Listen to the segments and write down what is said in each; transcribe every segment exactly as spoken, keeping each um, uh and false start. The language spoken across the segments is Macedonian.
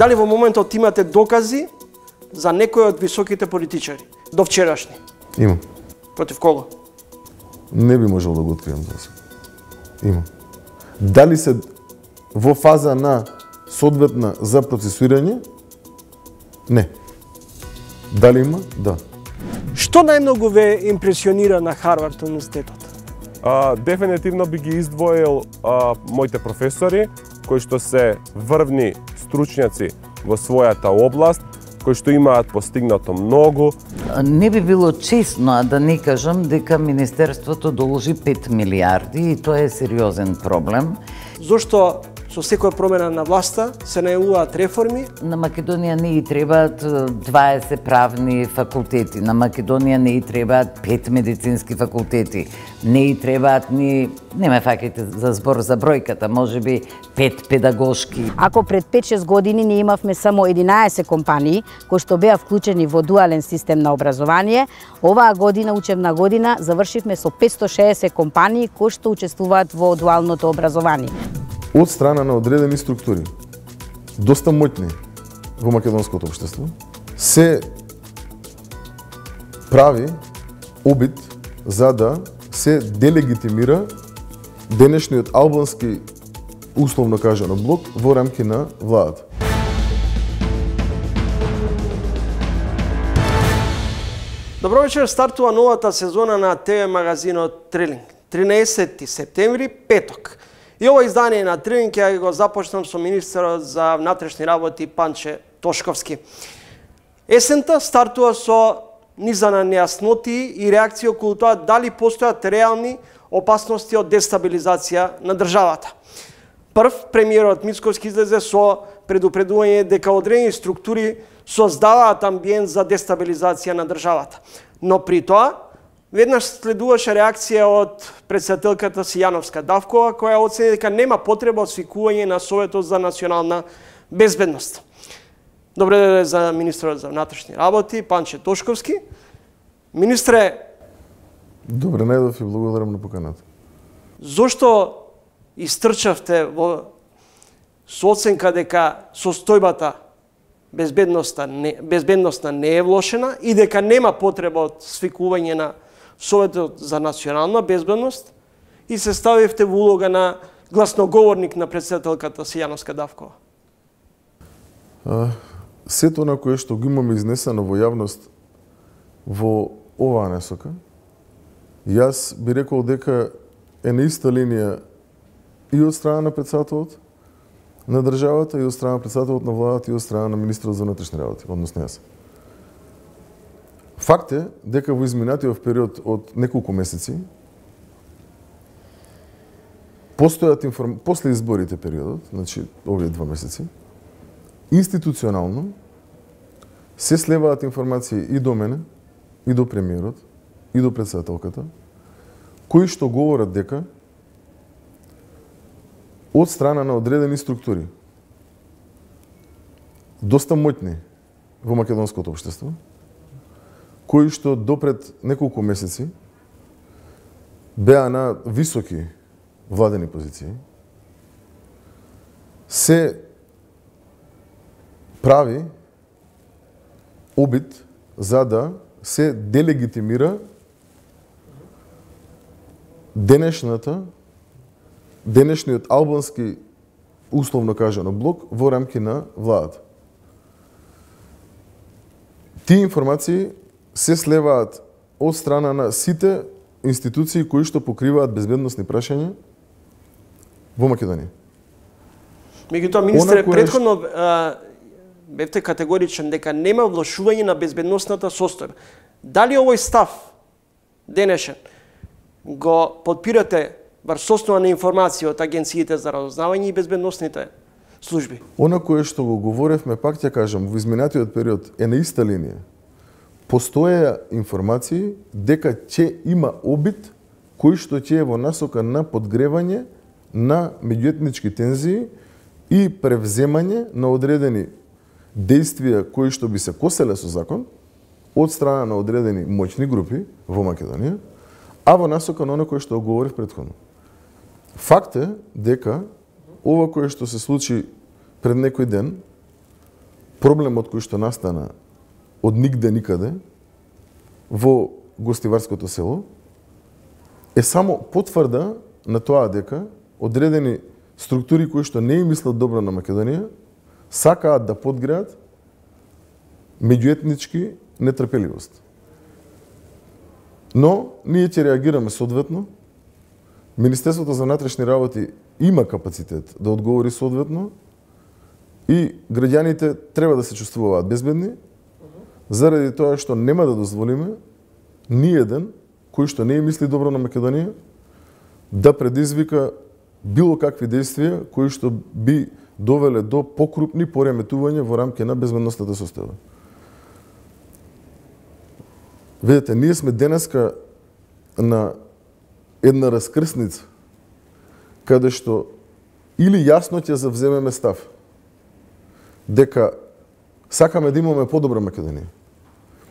Дали во моментот имате докази за некој од високите политичари до вчерашни? Има. Против кого? Не би можел да го открием за сега. Има. Дали се во фаза на соодветна за процесуирање? Не. Дали има? Да. Што најмногу ве импресионира на Харвард универзитетот? А, дефинитивно би ги издвоил а, моите професори, кои што се врвни стручњаци во својата област, кои што имаат постигнато многу. Не би било честно, а да не кажам дека Министерството доложи пет милиарди и тоа е сериозен проблем. Зошто со секоја промена на власта се најавуваат реформи? На Македонија не и требаат дваесет правни факултети, на Македонија не и требаат пет медицински факултети, не и требаат ни, не ме фаќајте за збор за бројката, можеби пет педагошки. Ако пред пет-шест години ние имавме само единаесет компании кои што беа вклучени во дуален систем на образование, оваа година, учебна година, завршивме со петстотини и шеесет компании кои што учествуваат во дуалното образование. Од страна на одредени структури, доста моќни во македонското општество, се прави обид за да се делегитимира денешниот албански, условно кажано, блок во рамки на владата. Добро вечер, стартува новата сезона на ТВ магазинот Трилинг. тринаесети септември, петок. И ова издание на Трилинг ја го започнам со министерот за внатрешни работи Панче Тошковски. Есента стартува со низа на нејасноти и реакции околу тоа дали постојат реални опасности од дестабилизација на државата. Прв, премиерот Мицковски излезе со предупредување дека одредени структури создаваат амбиент за дестабилизација на државата. Но при тоа, веднаш следуваше реакција од претседателката Сијановска Давкова, која оцени дека нема потреба од свикување на Советот за национална безбедност. Добре дојде за министерот за внатрешни работи, Панче Тошковски. Министре... Добре најдов и благодарам на поканата. Зошто истрчавте во со оценка дека состојбата безбедноста не, безбедноста не е влошена и дека нема потреба од свикување на Советот за национална безбедност и се ставивте во улога на гласноговорник на претседателката Сијановска Давкова? А, сето на кое што го имаме изнесено во јавност во оваа насока, јас би рекол дека е на иста линија и од страна на претседателот на државата, и од страна на претседателот на владата, и од страна на министерот за внатрешни работи, односно јас. Факт е дека во изминатиот период од неколку месеци, постојат информ... после изборите периодот, значи овие два месеци, институционално се слеваат информации и до мене, и до премиерот, и до претседателката, кои што говорат дека од страна на одредени структури, доста моќни во македонското општество, кои што допред неколку месеци беа на високи владени позиции, се прави обид за да се делегитимира денешната денешниот албански, условно кажано, блок во рамки на владата. Тие информации се слеваат од страна на сите институции кои што покриваат безбедносни прашања во Македонија. Меѓутоа, министре, претходно а, бевте категоричен дека нема влошување на безбедносната состојба. Дали овој став денешен го подпирате врз основа на информација од агенциите за разузнавање и безбедносните служби? Она кое што го говоревме, пак ќе кажам, во изминатиот период е на иста линија. Постоеа информации дека ќе има обид кој што ќе е во насока на подгревање на меѓуетнички тензии и превземање на одредени действија кои што би се коселе со закон од страна на одредени моćни групи во Македонија, а во насока на оно кое што говорив претходно. Факт е дека ова кое што се случи пред некој ден проблемот кој што настана од нигде никаде во гостиварското село е само потврда на тоа дека одредени структури кои што не им мислат добро на Македонија сакаат да подгреат меѓуетнички нетрпеливост. Но ние ќе реагираме соодветно. Министерството за внатрешни работи има капацитет да одговори соодветно и граѓаните треба да се чувствуваат безбедни заради тоа што нема да дозволиме ни еден кој што не мисли добро на Македонија да предизвика било какви действија кои што би довеле до покрупни пореметувања во рамки на безбедностната состојба. Видете, ние сме денеска на една раскрсница каде што или јасно ќе завземеме став дека сакаме да имаме подобра Македонија,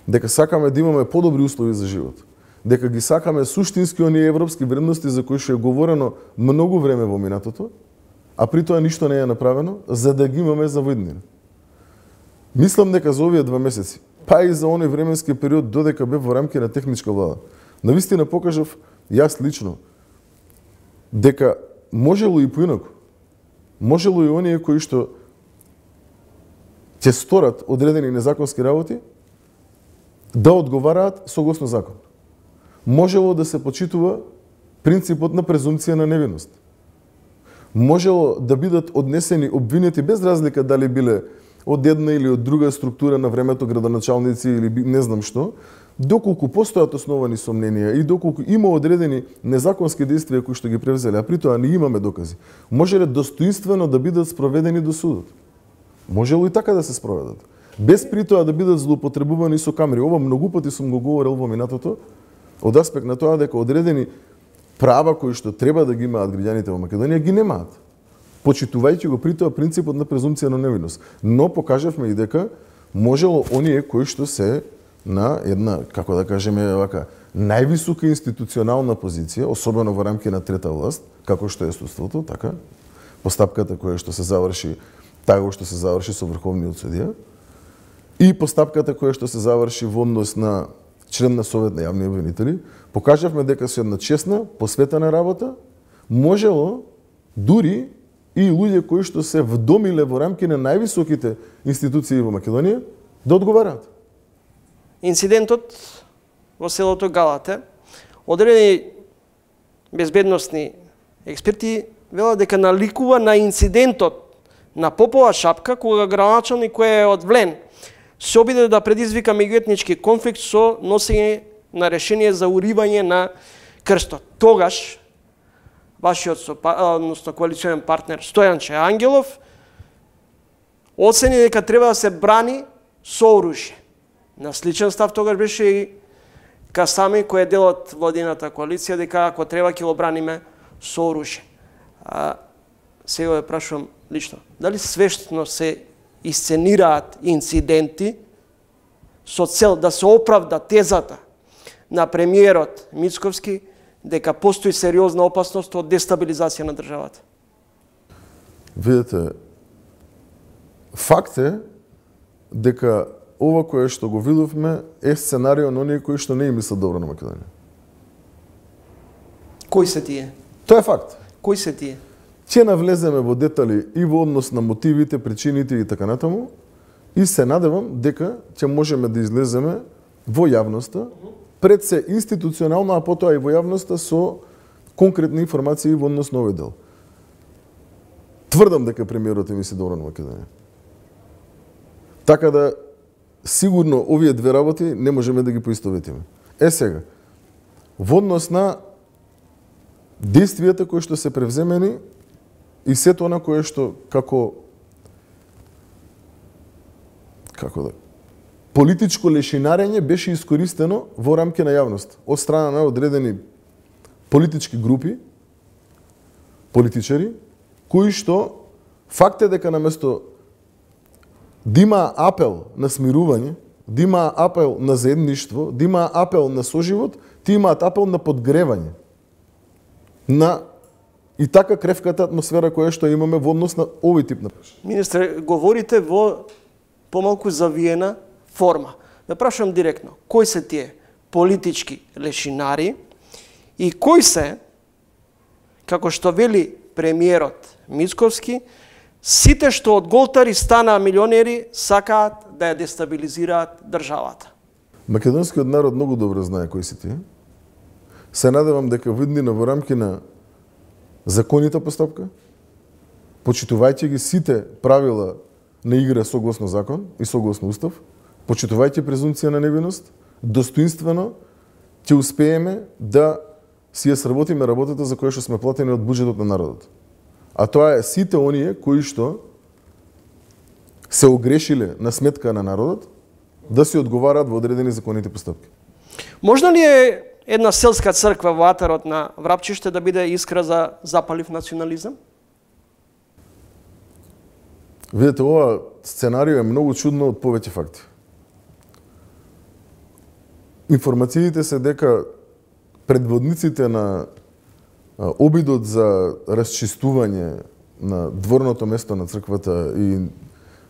дека сакаме да имаме подобри услови за живот, дека ги сакаме суштински оние европски вредности за кои што е говорено многу време во минатото, а при тоа ништо не е направено за да ги имаме за во иднина. Мислам дека за овие два месеци, па и за оној временски период додека бев во рамки на техничка влада, навистина покажав јас лично дека можело и поинаку. Можело и оние кои што ќе сторат одредени незаконски работи да одговараат согласно закон. Можело да се почитува принципот на презумпција на невиност. Можело да бидат однесени обвинети без разлика дали биле од една или од друга структура на времето градоначалници или не знам што, доколку постојат основани сомненија и доколку има одредени незаконски действија кои што ги превзеле, а при тоа не имаме докази, можеле достоинствено да бидат спроведени до судот. Можело и така да се спроведат. Без при тоа да бидат злоупотребувани со камери. Ова многу пати сум го говорил во минатото, од аспект на тоа дека одредени права кои што треба да ги имаат граѓаните во Македонија ги немаат, почитувајќи го при тоа принципот на презумпција на невиност. Но покажавме и дека можело оние кои што се на една, како да кажеме, вака, највисока институционална позиција, особено во рамки на трета власт, како што е судството, така, постапката која што се заврши, таго што се заврши со Врховниот судија, и постапката која што се заврши во однос на член на Совет на јавни обвинители, покажавме дека со една честна, посветена работа, можело дури и луѓе кои што се вдомиле во рамки на највисоките институции во Македонија да одговараат. Инцидентот во селото Галате, одредени безбедносни експерти велат дека наликува на инцидентот на Попова шапка кога градоначалник кој е од Влен се обиде да предизвика меѓуетнички конфликт со носење на решение за уривање на крстот. Тогаш вашиот односно коалиционен партнер Стојанче Ангелов оцени дека треба да се брани со оружје. На сличен став тогаш беше и Касами, кој е дел од владината коалиција, дека ако треба ќе го браниме со оружје. А сега ја прашувам лично, дали свештно се исценираат инциденти со цел да се оправда тезата на премиерот Мицковски дека постои сериозна опасност од дестабилизација на државата? Видете, факт е дека ова кое што го видовме е сценарио на оние кои што не им мислат добро на Македонија. Кои се тие? Тоа е факт. Кои се тие? Ќе навлеземе во детали и во однос на мотивите, причините и така натаму, и се надевам дека ќе можеме да излеземе во јавноста, пред се институционално, а потоа и во јавноста со конкретни информации во однос на овој дел. Тврдам дека премиерот е мисли добро на Македонија. Така да, сигурно овие две работи не можеме да ги поистоветиме. Е сега, во однос на действијата кои што се превземени и сето она кое што како како да политичко лешинарење беше искористено во рамки на јавност од страна на одредени политички групи, политичари, кои што факт е дека наместо да има апел на смирување, да има апел на заедништво, да има апел на соживот, ти имаат апел на подгревање на и така кревката атмосфера која што имаме во однос на овој тип на прашање. Министре, говорите во помалку завиена форма. Ве прашувам директно, кои се тие политички лешинари и кои се, како што вели премиерот Мицковски, сите што од голтари станаа милионери сакаат да ја дестабилизираат државата? Македонскиот народ многу добро знае кои се тие. Се надевам дека виднина во рамки на законита постапка, почитувајќи ги сите правила на игра согласно закон и согласно устав, почитувајќи презумпција на невиност, достоинствено ќе успееме да си ја сработиме работата за која што сме платени од буџетот на народот. А тоа е сите оние кои што се огрешиле на сметка на народот да си одговараат во одредени законите постапки. Можно ли е една селска црква во атарот на Врапчиште да биде искра за запалив национализам? Видете, ова сценарио е многу чудно од повеќе факти. Информациите се дека предводниците на обидот за расчистување на дворното место на црквата и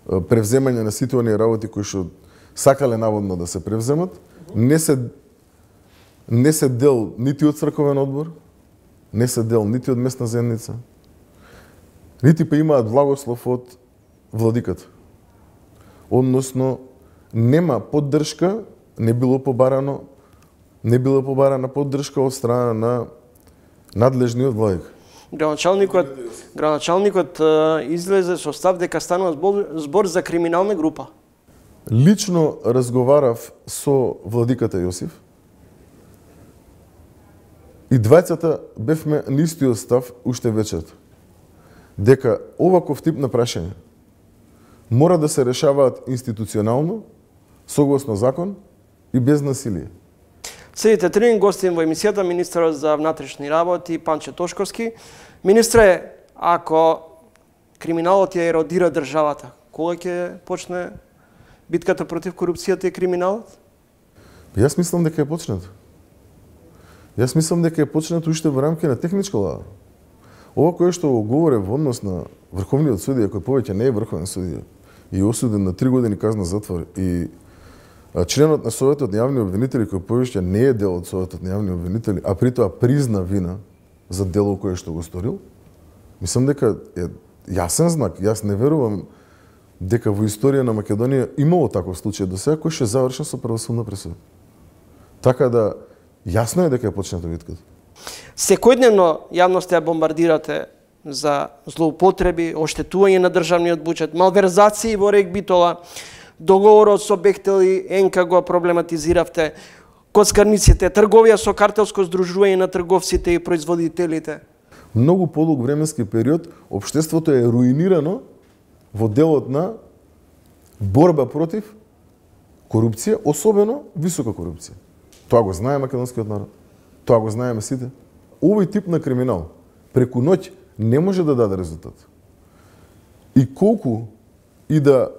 превземање на сите оние работи кои што сакале наводно да се превземат, не се не се дел нити од црковен одбор, не се дел нити од местна заедница, нити па имаат благослов од владиката. Односно, нема поддршка, не било побарано, не било побарана поддршка од страна на надлежниот владик. Градоначалникот, градоначалникот излезе со став дека станува збор, збор за криминална група. Лично разговарав со владиката Јосиф и двајцата бевме на истиот став уште вечерта. Дека оваков тип на прашање мора да се решаваат институционално, согласно закон и без насилие. Следите трин гостин во емисијата министерот за внатрешни работи Панче Тошковски. Министре, ако криминалот ја еродира државата, кога ќе почне битката против корупцијата и криминалот? Јас мислам дека е почнат. Јас мислам дека е почнат уште во рамки на техничка лава. Ова кое што го говоре во однос на врховниот судија, кој повеќе не е врховен судија и осуден на три години казна затвор, и членот на Советот на јавни обвинители кој повеќе не е дел од Советот на јавни обвинители, а при тоа призна вина за дело кое што го сторил, мислам дека е јасен знак. Јас не верувам дека во историја на Македонија имало таков случај до сега кој што е завршен со правосудна пресуда. Така да јасно е дека е почната битката. Секојдневно јавноста ја бомбардирате за злоупотреби, оштетување на државниот буџет, малверзации во РЕК Битола, договорот со Бехтел и Енка го проблематизиравте, коцкарниците, трговија со картелско здружување на трговците и производителите. Многу подолг временски период општеството е руинирано во делот на борба против корупција, особено висока корупција. Тоа го знае македонскиот народ. Тоа го знаеме сите. Овој тип на криминал преку ноќ не може да даде резултат. И колку и да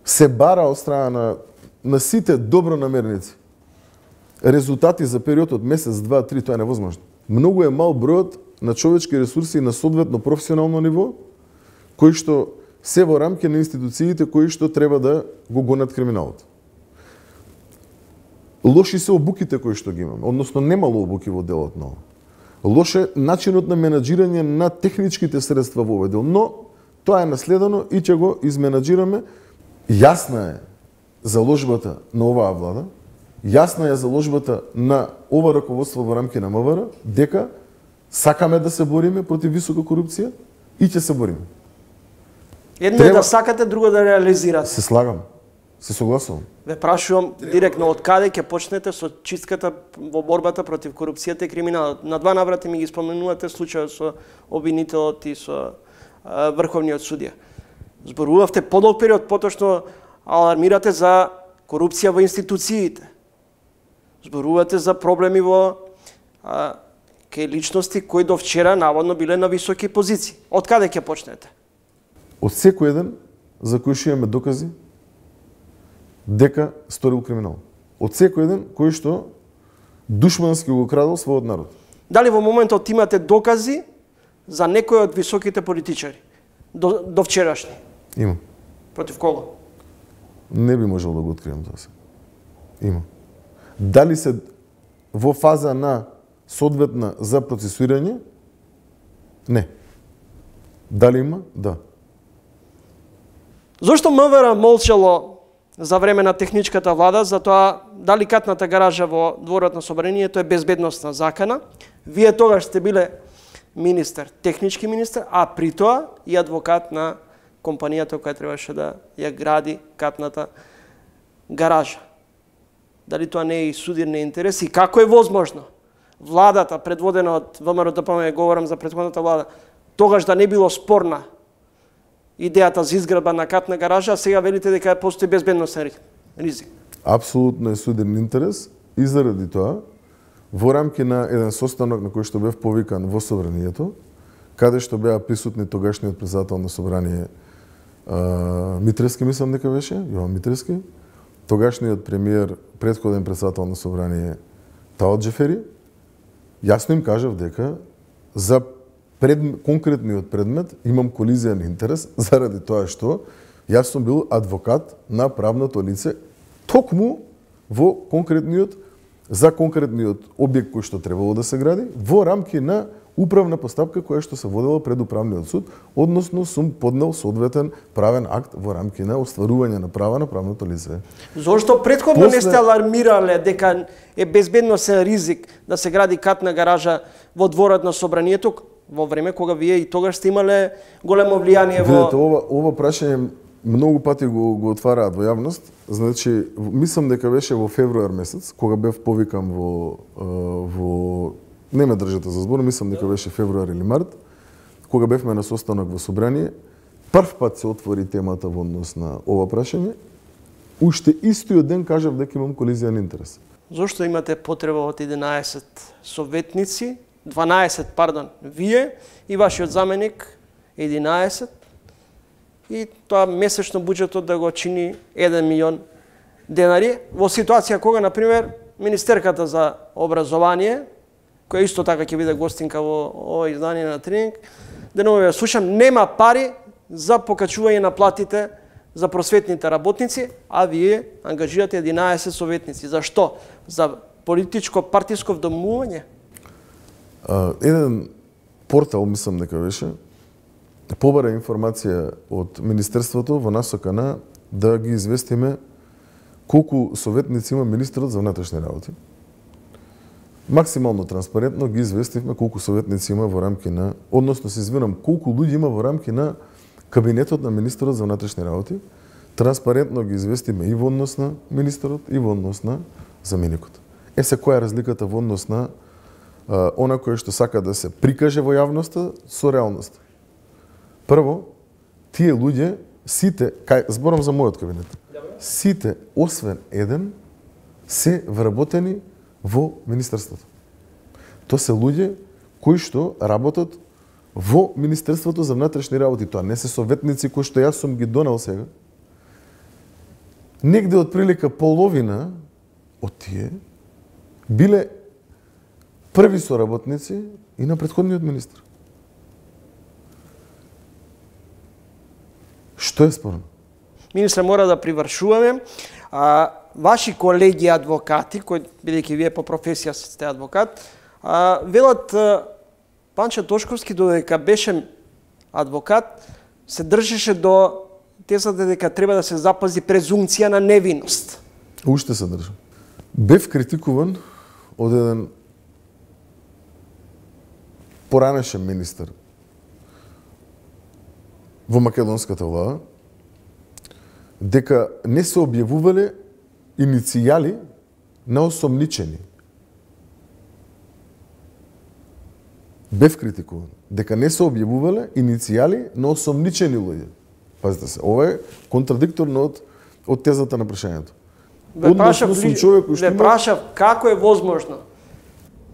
се бара од страна на, на сите добронамерници резултати за период од месец, два, три, тоа е невозможно. Многу е мал бројот на човечки ресурси на соодветно професионално ниво, кои што се во рамки на институциите кои што треба да го гонат криминалот. Лоши се обуките кои што ги имаме, односно немало обуки во делот на ова. Лош е начинот на менаџирање на техничките средства во овој дел, но тоа е наследено и ќе го изменаџираме. Јасна е заложбата на оваа влада, јасна е заложбата на ова раководство во рамки на МВР, дека сакаме да се бориме против висока корупција и ќе се бориме. Едно Треба... е да сакате, друго да реализирате. Се слагам. Се согласувам. Ве прашувам директно од каде ќе почнете со чистката во борбата против корупцијата и криминалот. На два наврати ми ги споменувате случајот со обвинителот и со а, врховниот судија. Зборувавте подолг период, поточно алармирате за корупција во институциите. Зборувате за проблеми во а, кај личности кои до вчера наводно биле на високи позиции. Од каде ќе почнете? Од секој еден за кој што имаме докази дека сторил криминал. Од секој еден кој што душмански го крадел својот народ. Дали во моментот имате докази за некој од високите политичари до, до вчерашни? Имам. Против кого? Не би можел да го открием тоа се. Има. Дали се во фаза на соодветна за процесуирање? Не. Дали има? Да. Зошто МВР молчало за време на техничката влада за тоа дали катната гаража во дворот на собранието е безбедносна закана? Вие тогаш сте биле министер, технички министер, а при тоа и адвокат на компанијата која требаше да ја гради катната гаража. Дали тоа не е и судирни интерес и како е возможно владата, предводена од ВМРО Д П М, говорам за претходната влада, тогаш да не било спорна идејата за изградба на катна гаража, а сега велите дека постои безбедносен ризик? Апсолутно е судирен интерес и заради тоа, во рамки на еден состанок на кој што бев повикан во собранието, каде што беа присутни тогашниот председател на собрание Митревски, мислам дека беше, Јован Митревски, тогашниот премиер, претходен председател на собрание Таот Джефери, јасно им кажав дека за пред, конкретниот предмет имам колизијен интерес заради тоа што јас сум бил адвокат на правното лице токму во конкретниот за конкретниот објект кој што требало да се гради во рамки на управна постапка која што се водела пред управниот суд, односно сум поднел соодветен правен акт во рамки на остварување на права на правното лице. Зошто претходно После... не сте алармирале дека е безбедносен ризик да се гради катна гаража во дворот на собранието во време кога вие и тогаш сте имале големо влијание во... Видете, ова, ова прашање многу пати го, го отвараат во јавност. Значи, мислам дека беше во февруар месец, кога бев повикан во, во не ме држате за збор, мислам дека беше февруар или март, кога бевме на состанок во собрание, прв пат се отвори темата во однос на ова прашање. Уште истиот ден кажав дека имам колизијен интерес. Зошто имате потреба од единаесет советници, дванаесет, пардон, вие и вашиот заменик единаесет, и тоа месечно буџетот да го чини еден милион денари, во ситуација кога, например, Министерката за образование, која исто така ќе биде гостинка во ова издание на Тренинг, деново ја слушам, нема пари за покачување на платите за просветните работници, а вие ангажирате единаесет советници. Зашто? За политичко партиско вдомување? Еден портал, мислам дека беше, побара информација од Министерството во насока на да ги известиме колку советници има министерот за внатрешни работи. Максимално транспарентно ги известивме колку советници има во рамки на, односно се извинам, колку луѓе има во рамки на кабинетот на министерот за внатрешни работи. Транспарентно ги известиме и во однос на министерот и во однос на заменикот. Е се која е разликата во однос на а, она кој што сака да се прикаже во јавноста со реалноста. Прво, тие луѓе, сите, кај, зборам за мојот кабинет, сите, освен еден, се вработени во Министерството. Тоа се луѓе кои што работат во Министерството за внатрешни работи. Тоа не се советници кои што јас сум ги донел сега. Негде од прилика половина од тие биле први соработници и на претходниот министр. Што е спорно? Министре, мора да привршуваме. А, ваши колеги адвокати, кои бидејќи вие по професија сте адвокат, а, велат а, Панчо Тошковски додека беше адвокат, се држеше до тезата дека треба да се запази презумција на невиност. Уште се држам. Бев критикуван од еден поранешен министер во македонската влада, дека не се објавувале иницијали на осомничени. Бев критикуван. Дека не се објавувале иницијали на осомничени луѓе. Пазите се, ова е контрадикторно од, од тезата на прашањето. Ве прашав, ве прашав како е возможно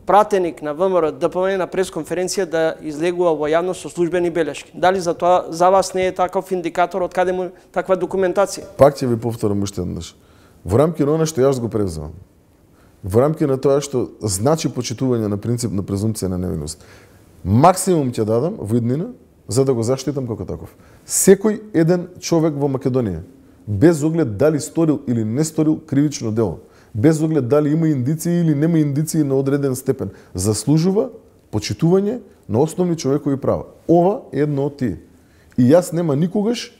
пратеник на ВМРО Д П М на пресконференција да излегува во јавност со службени белешки. Дали за тоа за вас не е таков индикатор од каде му таква документација? Пак ќе ви повторам уште еднаш. Во рамки на она што јас го превземам, во рамки на тоа што значи почитување на принцип на презумпција на невиност, максимум ќе дадам во иднина за да го заштитам како таков. Секој еден човек во Македонија, без оглед дали сторил или не сторил кривично дело, без оглед дали има индиции или нема индиции на одреден степен, заслужува почитување на основни човекови права. Ова е едно од тие. И јас нема никогаш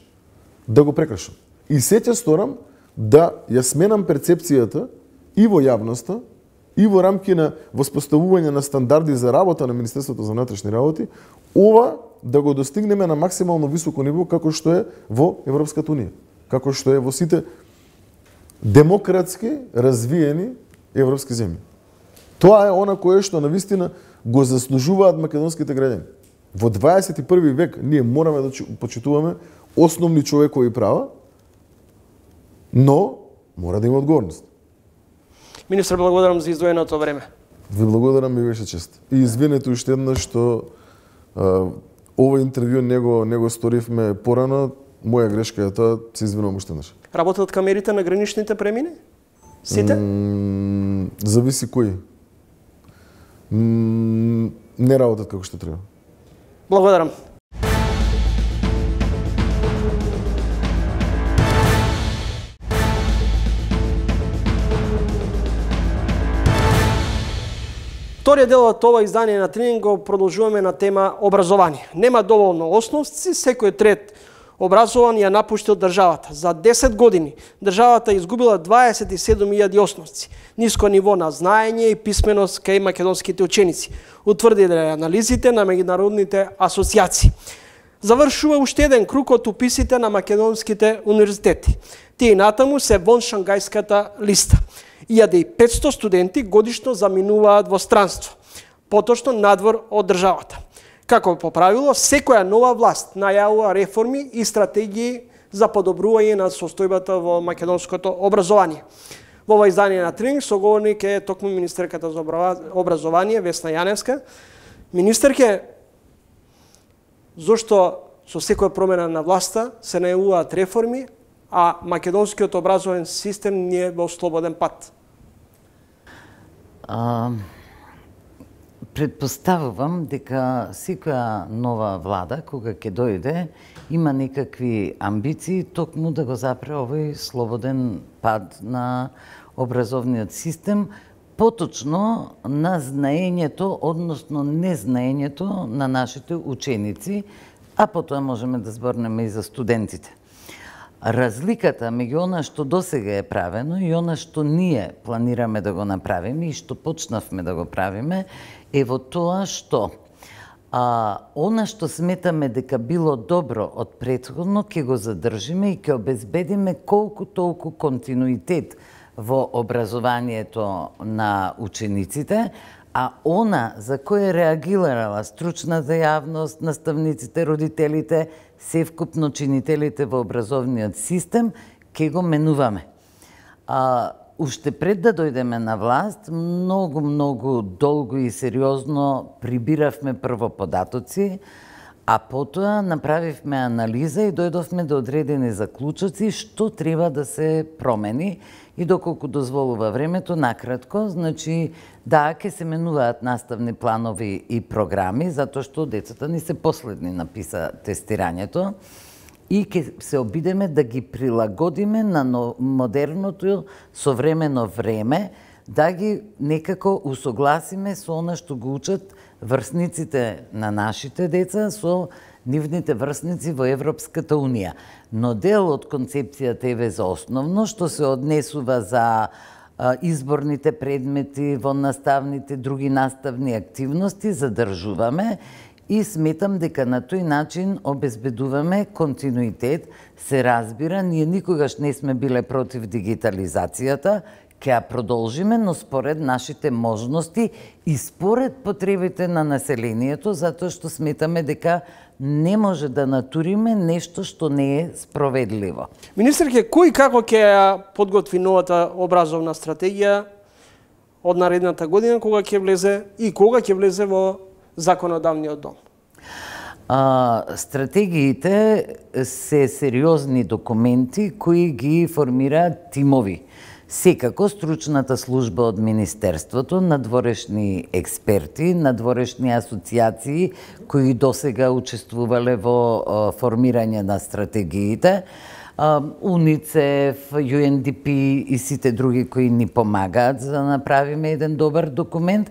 да го прекршам. И се ќе сторам да ја сменам перцепцијата и во јавноста, и во рамки на воспоставување на стандарди за работа на Министерството за внатрешни работи, ова да го достигнеме на максимално високо ниво како што е во Европската унија, како што е во сите демократски развиени европски земји. Тоа е она кое што навистина го заслужуваат македонските граѓани. Во дваесет и први век ние мораме да почитуваме основни човекови права, но мора да има одговорност. Министр, благодарам за издвоеното време. Ви благодарам, ми беше чест. И извинете уште еднаш што а, ова интервју него него сторивме порано, моја грешка е тоа, се извинувам уште еднаш. Работат камерите на граничните премини? Сите? М, зависи кои. М, не работат како што треба. Благодарам. Вториот дел од ова издание на Тренинг го продолжуваме на тема образование. Нема доволно основци, секој трет образован ја напуштил државата. За десет години државата изгубила дваесет и седум илјади основци. Ниско ниво на знаење и писменост кај македонските ученици, утврдиле анализите на меѓународните асоцијации. Завршува уште еден круг од уписите на македонските универзитети. Тие натаму се вон Шангајската листа. илјада и петсто студенти годишно заминуваат во странство, поточно надвор од државата. Како по правило, секоја нова власт најавува реформи и стратегии за подобрување на состојбата во македонското образование. Во ова издание на Тренинг соговорник е токму министерката за образование Весна Јаневска. Министерке, зошто со секоја промена на власта се најавуваат реформи, а македонскиот образовен систем не е во слободен пат? А, предпоставувам дека секоја нова влада, кога ќе дојде, има некакви амбиции токму да го запре овој слободен пат на образовниот систем, поточно на знаењето, односно незнаењето на нашите ученици, а потоа можеме да зборнеме и за студентите. Разликата меѓу она што досега е правено и она што ние планираме да го направиме и што почнавме да го правиме е во тоа што а, она што сметаме дека било добро од претходно ќе го задржиме и ќе обезбедиме колку толку континуитет во образованието на учениците, а она за кое реагирала стручната јавност, наставниците, родителите, севкупно чинителите во образовниот систем, ќе го менуваме. А, уште пред да дојдеме на власт, многу, многу долго и сериозно прибиравме прво податоци, а потоа направивме анализа и дојдовме до одредени заклучоци што треба да се промени и доколку дозволува времето, накратко, значи да, ќе се менуваат наставни планови и програми, затоа што децата ни се последни на писа тестирањето и ќе се обидеме да ги прилагодиме на модерното современо време, да ги некако усогласиме со она што го учат врсниците на нашите деца со нивните врсници во Европската унија. Но дел од концепцијата е за основно, што се однесува за а, изборните предмети во наставните, други наставни активности, задржуваме и сметам дека на тој начин обезбедуваме континуитет. Се разбира, ние никогаш не сме биле против дигитализацијата, ќе ја продолжиме, но според нашите можности и според потребите на населението, затоа што сметаме дека не може да натуриме нешто што не е спроведливо. Министерке, кој како ќе ја подготви новата образовна стратегија од наредната година, кога ќе влезе и кога ќе влезе во законодавниот дом? А, стратегиите се сериозни документи кои ги формираат тимови. Секако стручната служба од Министерството, надворешни експерти, надворешни асоциации кои досега учествувале во формирање на стратегиите, УНИЦЕФ, Ю Ен Ди Пи и сите други кои ни помагаат за да направиме еден добар документ.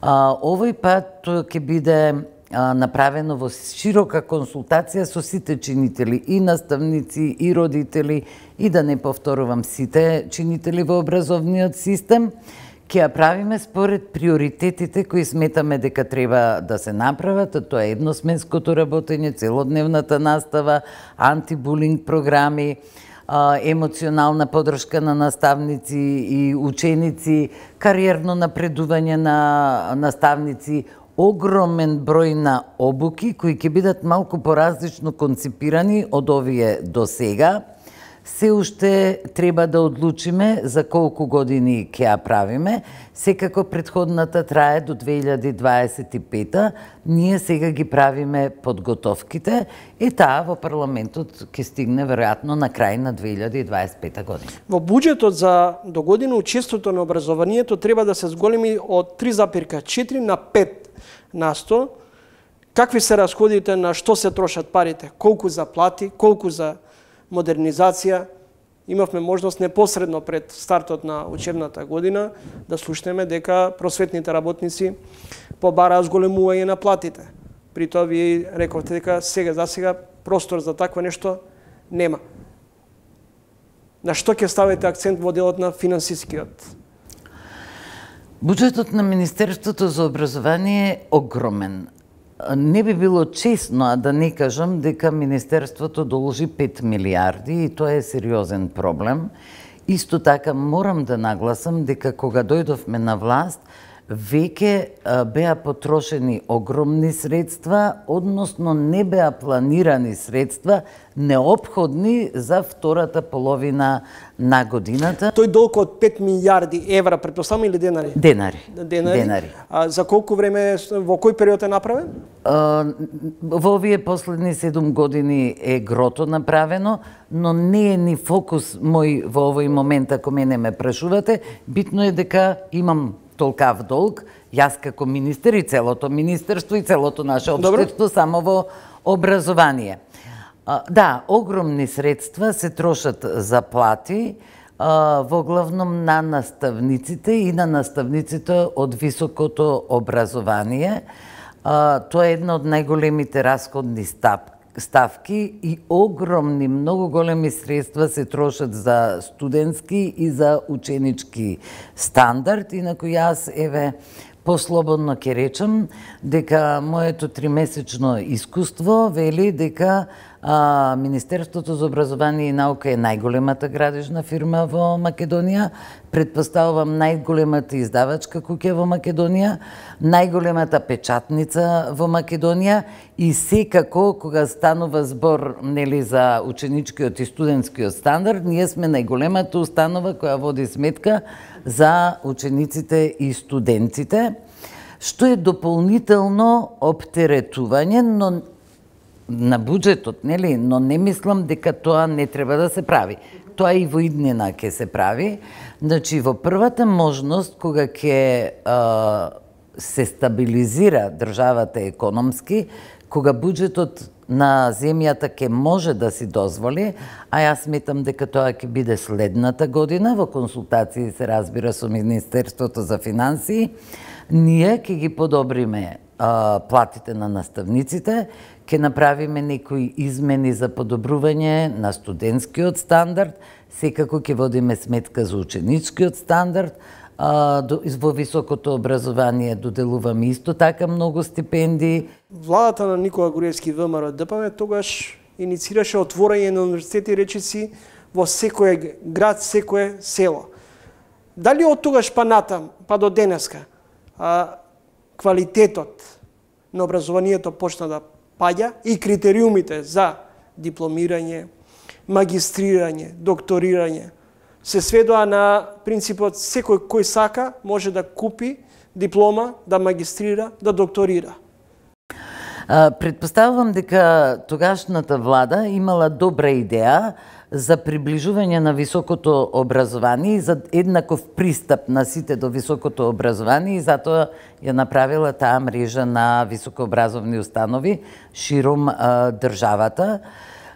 Овој пат ќе биде направено во широка консултација со сите чинители, и наставници, и родители, и да не повторувам сите чинители во образовниот систем. Ќе ја правиме според приоритетите кои сметаме дека треба да се направат, а тоа е едносменското работење, целодневната настава, антибулинг програми, емоционална подршка на наставници и ученици, кариерно напредување на наставници, огромен број на обуки кои ќе бидат малку поразлично конципирани од овие до сега. Се уште треба да одлучиме за колку години ќе ја правиме. Секако претходната трае до две илјади дваесет и пета. Ние сега ги правиме подготовките и таа во парламентот ќе стигне веројатно на крај на две илјади дваесет и пета година. Во буџетот за догодина учеството на образованието треба да се зголеми од три запирка четири на пет на сто. Какви се расходите, на што се трошат парите, колку за плати, колку за модернизација. Имавме можност непосредно пред стартот на учебната година да слушнеме дека просветните работници побараат зголемување на платите. При тоа вие рековте дека сега за сега простор за такво нешто нема. На што ќе ставите акцент во делот на финансискиот? Буџетот на Министерството за образование е огромен. Не би било честно, а да не кажам дека Министерството должи пет милиарди и тоа е сериозен проблем. Исто така морам да нагласам дека кога дојдовме на власт, веќе беа потрошени огромни средства, односно не беа планирани средства неопходни за втората половина на годината. Тој долг од пет милиарди евра, претпоставам, или денари? Денари. Денари. Денари. А за колку време, во кој период е направен? А, во овие последни седум години е грото направено, но не е ни фокус мој во овој момент, ако мене ме прашувате. Битно е дека имам толкав долг, јас како министер и целото министерство и целото наше општество само во образование. А, да, огромни средства се трошат за плати, а, во главном на наставниците и на наставниците од високото образование. А, тоа е една од најголемите расходни ставки ставки и огромни, многу големи средства се трошат за студентски и за ученички стандард. Инаку јас, еве, послободно ќе речам дека моето тримесечно искуство вели дека а, Министерството за образование и наука е најголемата градежна фирма во Македонија, предпоставувам најголемата издавачка куќа во Македонија, најголемата печатница во Македонија и секако кога станува збор, нели, за ученичкиот и студентскиот стандард, ние сме најголемата установа која води сметка за учениците и студентите, што е дополнително оптеретување, но на буџетот, нели, но не мислам дека тоа не треба да се прави. Тоа и во иднина ќе се прави. Значи, во првата можност, кога ќе а, се стабилизира државата економски, кога буџетот на земјата ќе може да си дозволи, а јас сметам дека тоа ќе биде следната година, во консултации се разбира со Министерството за финансии, ние ќе ги подобриме а, платите на наставниците, ќе направиме некои измени за подобрување на студентскиот стандард, секако ќе водиме сметка за ученичкиот стандард, а, до, во високото образование доделуваме исто така многу стипендии. Владата на Никола Груевски Вэ Ем Ар Д П М тогаш иницираше отворање на универзитети, речиси, во секој град, секое село. Дали од тогаш па натам, па до денеска, а, квалитетот на образованието почна да паѓа и критериумите за дипломирање, магистрирање, докторирање се сведоа на принципот секој кој сака може да купи диплома, да магистрира, да докторира? Предпоставувам дека тогашната влада имала добра идеја за приближување на високото образование и за еднаков пристап на сите до високото образование и затоа ја направила таа мрежа на високообразовни установи широм а, државата.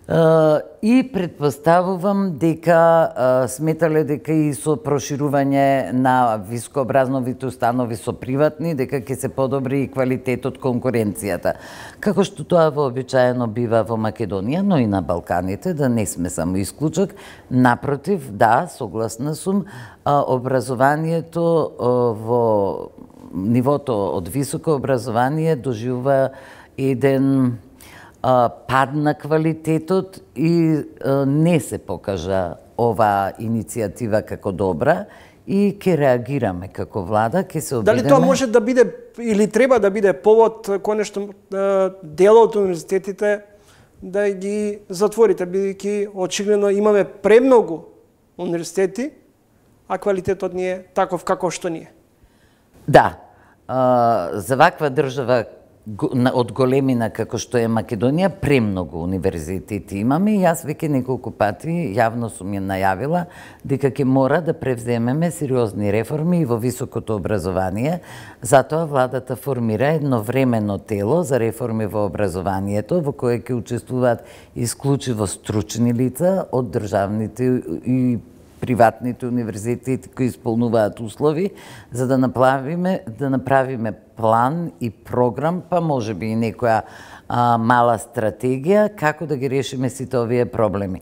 Uh, и предпоставувам дека uh, сметале дека и со проширување на високообразовните установи со приватни, дека ќе се подобри и квалитетот конкуренцијата. Како што тоа вообичаено бива во Македонија, но и на Балканите, да не сме само исклучок. Напротив, да, согласна сум, uh, образованието uh, во нивото од високо образование доживува еден пад на квалитетот и не се покажа оваа иницијатива како добра и ќе реагираме како влада, ќе се обидеме. Дали тоа може да биде или треба да биде повод конечно дел од универзитетите да ги затворите, бидејќи очигледно имаме премногу универзитети, а квалитетот не е таков како што ни е? Да, за ваква држава од големина како што е Македонија, премногу универзитети имаме и јас веќе неколку пати јавно сум ја најавила дека ќе мора да превземеме сериозни реформи и во високото образование. Затоа владата формира едно временно тело за реформи во образованието, во кое ќе учествуваат исклучиво стручни лица од државните и приватните универзитети кои исполнуваат услови, за да направиме, да направиме план и програм, па може би и некоја а, мала стратегија, како да ги решиме сите овие проблеми.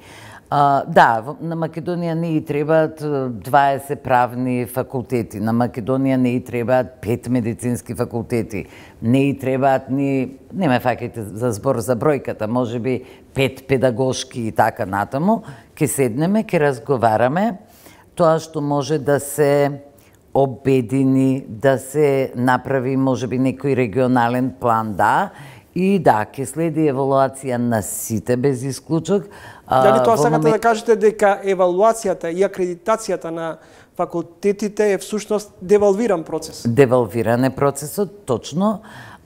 А, да, на Македонија не и требаат дваесет правни факултети, на Македонија не и требаат пет медицински факултети, не и требаат ни, не ме фаќајте за збор за бројката, може би пет педагошки и така натаму, ке седнеме, ке разговараме, тоа што може да се обедини, да се направи може би некој регионален план, да, и да, ке следи евалуација на сите без исклучок. Дали тоа сакате момент... да кажете дека евалуацијата и акредитацијата на факултетите е всушност девалвиран процес? Девалвиран е процесот, точно.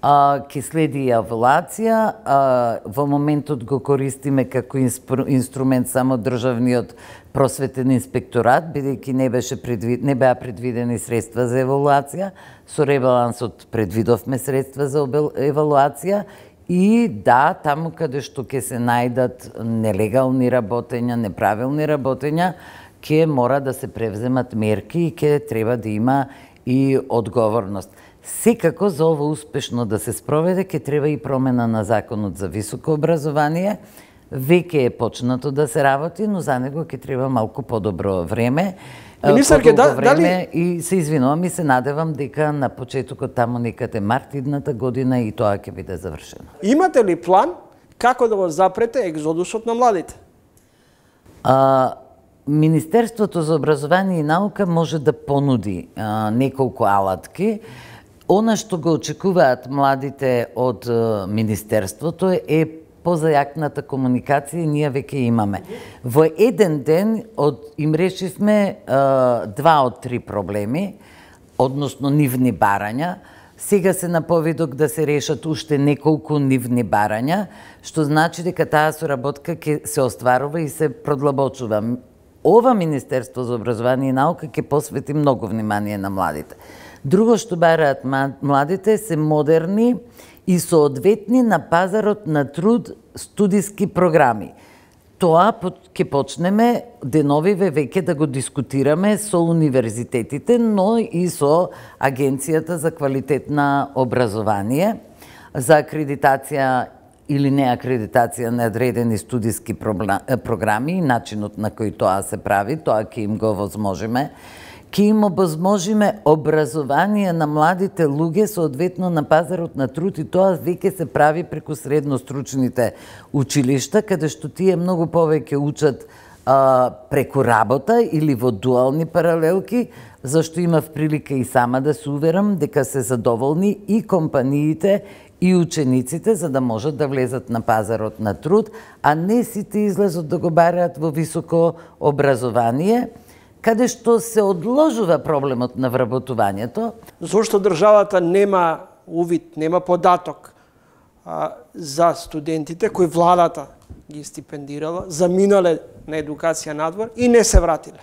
А, ке следи евалуација, а, во моментот го користиме како инстру, инструмент само државниот просветен инспекторат, бидејќи не беше предвид, не беа предвидени средства за евалуација, со ребалансот предвидовме средства за евалуација и да, таму каде што ќе се најдат нелегални работења, неправилни работења, ќе мора да се превземат мерки и ќе треба да има и одговорност. Секако за ово успешно да се спроведе, ќе треба и промена на законот за високо образование. Веќе е почнато да се работи, но за него ќе треба малку подобро време. Министерке, да, време дали... И се извинувам и се надевам дека на почетокот тамо некаде март идната година и тоа ќе биде завршено. Имате ли план како да го запрете екзодусот на младите? А, Министерството за образование и наука може да понуди а, неколку алатки. Она што го очекуваат младите од а, Министерството е позајакната комуникација и ние веќе имаме. Во еден ден од, им решивме а, два од три проблеми, односно нивни барања. Сега се на повидок да се решат уште неколку нивни барања, што значи дека таа соработка ќе се остварува и се продлабочува. Ова Министерство за образование и наука ќе посвети многу внимание на младите. Друго што бараат младите се модерни и соодветни на пазарот на труд студиски програми. Тоа ќе почнеме деновиве веќе да го дискутираме со универзитетите, но и со Агенцијата за квалитет на образование, за акредитација или не акредитација на одредени студиски програми и начинот на кој тоа се прави, тоа ќе им го возможиме. Ке им обозможиме образование на младите луѓе соодветно на пазарот на труд и тоа веќе се прави преку средно-стручните училишта, каде што тие многу повеќе учат а, преку работа или во дуални паралелки, зашто имав прилика и сама да се уверам дека се задоволни и компаниите и учениците за да можат да влезат на пазарот на труд, а не сите излезот да го бараат во високо образование, каде што се одложува проблемот на вработувањето. Зошто државата нема увид, нема податок а, за студентите кои владата ги стипендирала, заминале на едукација надвор и не се вратиле?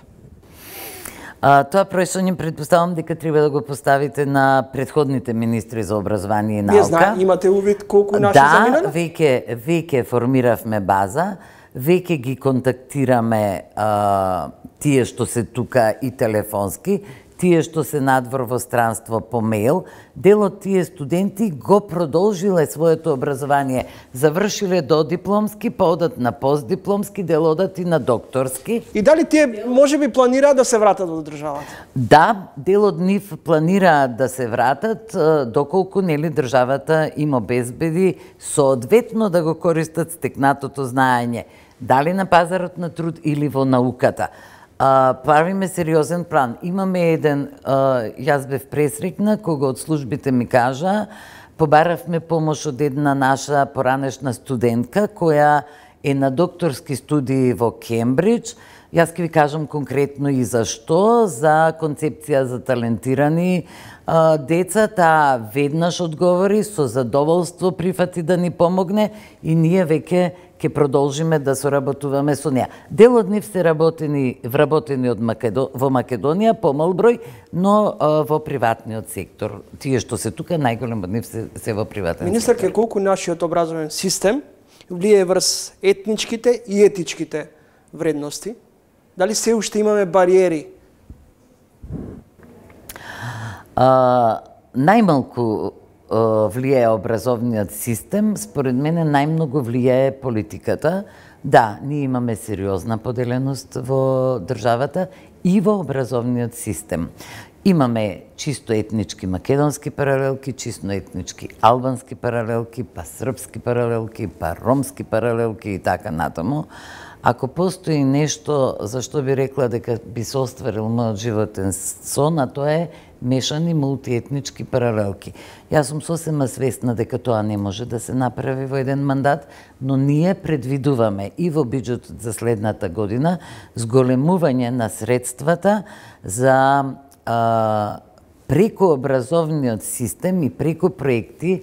А, тоа прашање предпоставам дека треба да го поставите на предходните министри за образование и наука. Не знам, имате увид колку наши да, заминале? Да, веќе веќе формиравме база, веќе ги контактираме а, тие што се тука и телефонски, тие што се надвор во странство по мејл. Дел од тие студенти го продолжиле своето образование, завршиле до дипломски, па одат на постдипломски, дел одат и на докторски. И дали тие можеби планираат да се вратат во државата? Да, дел од нив планираат да се вратат, доколку нели државата им обезбеди соодветно да го користат стекнатото знаење, дали на пазарот на труд или во науката. А, правиме сериозен план. Имаме еден, а, јас бев пресрекна, кога од службите ми кажа, побаравме помош од една наша поранешна студентка, која е на докторски студии во Кембридж. Јас ќе ви кажам конкретно и зашто, за концепција за талентирани а, деца, таа веднаш одговори, со задоволство прифати да ни помогне и ние веќе ќе продолжиме да соработуваме со неа. Дел од нив се работени, вработени од Македо, во Македонија, помал број, но а, во приватниот сектор. Тие што се тука, најголем од нив се, се во приватен Министерке, сектор. колку нашиот образовен систем влие врз етничките и етичките вредности? Дали се уште имаме бариери? А, најмалку влијае образовниот систем, според мене најмногу влијае политиката. Да, ние имаме сериозна поделеност во државата и во образовниот систем. Имаме чисто етнички македонски паралелки, чисто етнички албански паралелки, па српски паралелки, па ромски паралелки и така натаму. Ако постои нешто за што би рекла дека би се остварил мојот животен сон, а тоа е мешани мултиетнички паралелки. Јас сум сосема свесна дека тоа не може да се направи во еден мандат, но ние предвидуваме и во биџетот за следната година зголемување на средствата за а, преку образовниот систем и преку проекти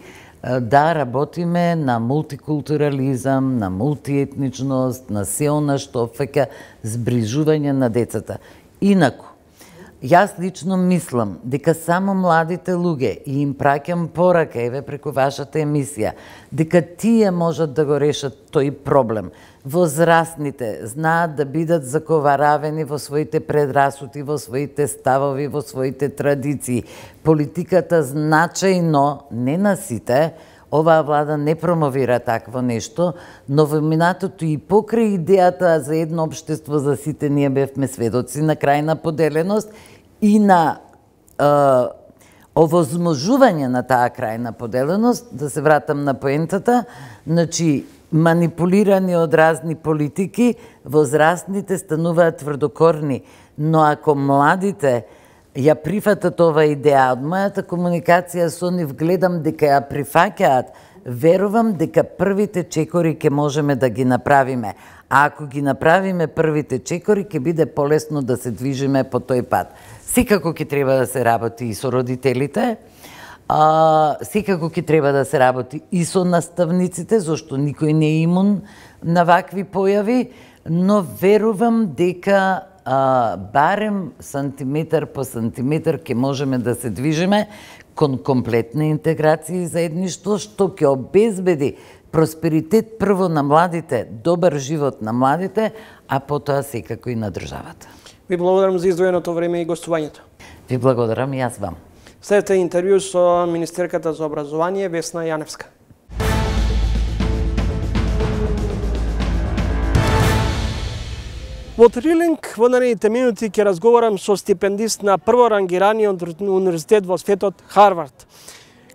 да работиме на мултикултурализам, на мултиетничност, на се она што опфаќа зближување на децата. Инаку, јас лично мислам дека само младите луѓе, и им праќам порака, еве преку вашата емисија, дека тие можат да го решат тој проблем. Возрастните знаат да бидат заковаравени во своите предрасуди, во своите ставови, во своите традиции. Политиката значајно, не на сите, оваа влада не промовира такво нешто, но во минатото и покрај идејата за едно општество за сите, ние бевме сведоци на крајна поделеност и на е, овозможување на таа крајна поделеност. Да се вратам на поентата, значи манипулирани од разни политики, возрастните стануваат тврдокорни, но ако младите ја прифатат ова идеја, од мојата комуникација со нив гледам дека ја прифаќаат, верувам дека првите чекори ќе можеме да ги направиме. А ако ги направиме првите чекори, ќе биде полесно да се движиме по тој пат. Секако ќе треба да се работи и со родителите, а, секако ќе треба да се работи и со наставниците, зашто никој не е имун на вакви појави, но верувам дека а, барем сантиметар по сантиметар ќе можеме да се движиме кон комплетна интеграција и заедништво, што ќе обезбеди просперитет прво на младите, добар живот на младите, а потоа секако и на државата. Ви благодарам за издвоеното време и гостувањето. Ви благодарам и јас вам. Следете интервју со министерката за образование Весна Јаневска. Во Трилинг во наредните минути ќе разговарам со стипендист на прворангираниот универзитет во светот Харвард,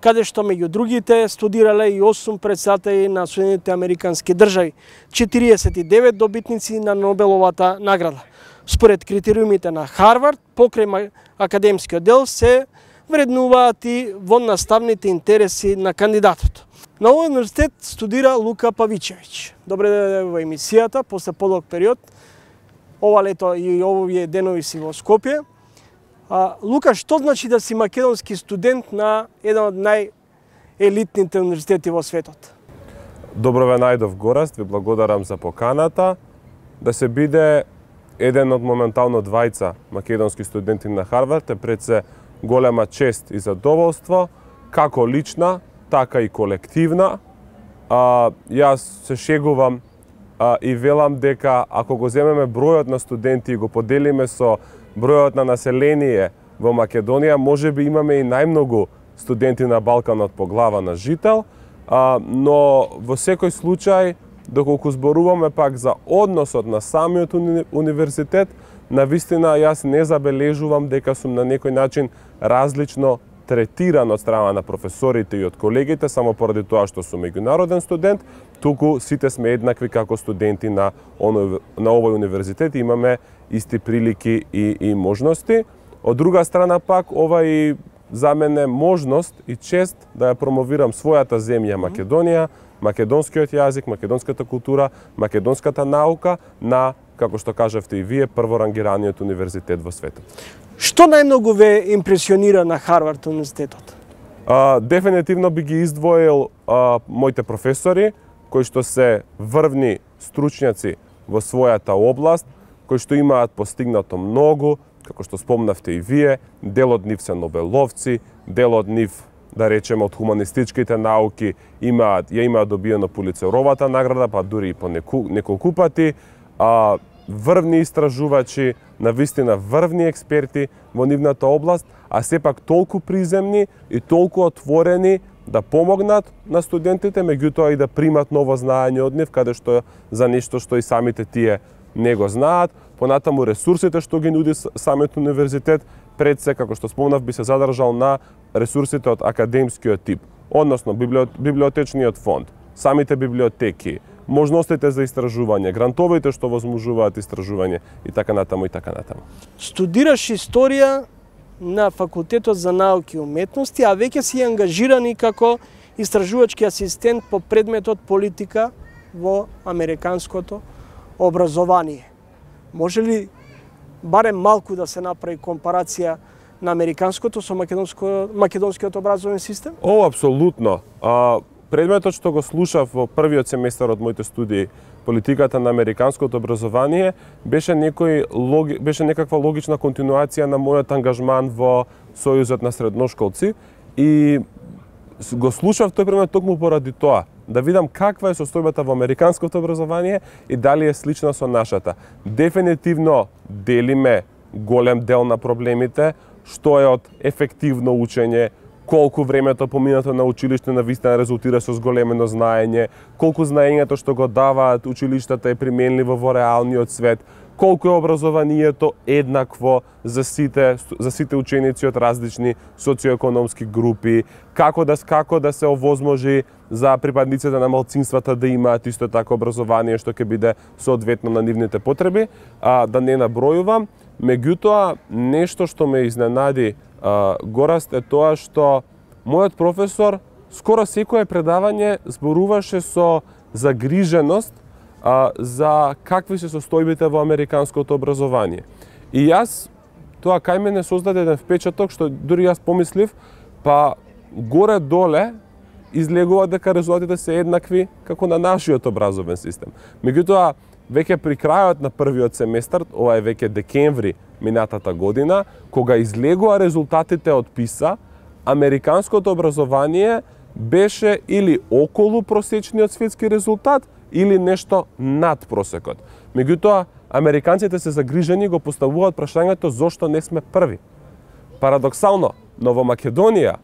каде што меѓу другите студирале и осум председатели на Соединетите Американски држави, четириесет и девет добитници на Нобеловата награда. Според критериумите на Харвард, покрај академскиот дел се вреднуваат и во наставните интереси на кандидатот. На овој универзитет студира Лука Павичевиќ. Добре дојде во емисијата после подолг период. Ова лето и овие денови си во Скопје. А, Лука, што значи да си македонски студент на еден од најелитните универзитети во светот? Добро ве најдов, Гораст, ви благодарам за поканата да се биде еден од моментално двајца македонски студенти на Харвард е пред се голема чест и задоволство, како лична, така и колективна. А, јас се шегувам а, и велам дека ако го земеме бројот на студенти и го поделиме со бројот на население во Македонија, може би имаме и најмногу студенти на Балканот по глава на жител, а, но во секој случај, доколку зборуваме пак за односот на самиот уни, универзитет, навистина јас не забележувам дека сум на некој начин различно третиран од страна на професорите и од колегите, само поради тоа што сум меѓународен студент, туку сите сме еднакви како студенти на, оно, на овој универзитет и имаме исти прилики и, и можности. Од друга страна пак, ова и за мене можност и чест да ја промовирам својата земја Македонија, македонскиот јазик, македонската култура, македонската наука на, како што кажавте и вие, прворангираниот универзитет во светот. Што најмногу ве импресионира на Харвард универзитетот? А, дефинитивно би ги издвоил а, моите професори, кои што се врвни стручњаци во својата област, кои што имаат постигнато многу, како што спомнавте и вие, дел од нив се нобеловци, дел од нив, да речеме, од хуманистичките науки имаат, ја имаат добиено Пулицеровата награда, па дури и по неку, неколку пати, а, врвни истражувачи, навистина врвни експерти во нивната област, а сепак толку приземни и толку отворени да помогнат на студентите, меѓутоа и да примат ново знаење од нив, каде што за нешто што и самите тие не го знаат. Понатаму ресурсите што ги нуди самиот универзитет, пред се, како што спомнав, би се задржал на ресурсите од академскиот тип, односно библиотечниот фонд, самите библиотеки, можностите за истражување, грантовите што возможуваат истражување и така натаму и така натаму. Студираш историја на Факултетот за науки и уметности, а веќе си ангажирани како истражувачки асистент по предметот политика во американското образование. Може ли барем малку да се направи компарација на американското со македонско, македонскиот образовен систем? О, апсолутно. А, предметот што го слушав во првиот семестар од моите студии, политиката на американското образование, беше некој логи, беше некаква логична континуација на мојот ангажман во Сојузот на средношколци и го слушав тој предмет токму поради тоа, да видам каква е состојбата во американското образование и дали е слична со нашата. Дефинитивно делиме голем дел на проблемите, што е од ефективно учење, колку времето поминато на училиште навистина резултира со зголемено знаење, колку знаењето што го даваат училиштата е применливо во реалниот свет, колку е образованието еднакво за сите за сите ученици од различни социоекономски групи, како да како да се овозможи за припадниците на малцинствата да имаат исто така образование што ќе биде соодветно на нивните потреби, а да не набројувам. Меѓутоа, нешто што ме изненади, а, Гораст, е тоа што мојот професор скоро секое предавање зборуваше со загриженост а, за какви се состојбите во американското образование. И јас, тоа кај мене создаде еден впечаток што дури јас помислив, па горе-доле излегува дека резултатите се еднакви како на нашиот образовен систем. Меѓутоа, веќе при крајот на првиот семестар, ова е веќе декември минатата година, кога излегува резултатите од ПИСА, американското образование беше или околу просечниот светски резултат, или нешто над просекот. Меѓутоа, американците се загрижени и го поставуваат прашањето зошто не сме први. Парадоксално, но во Македонија,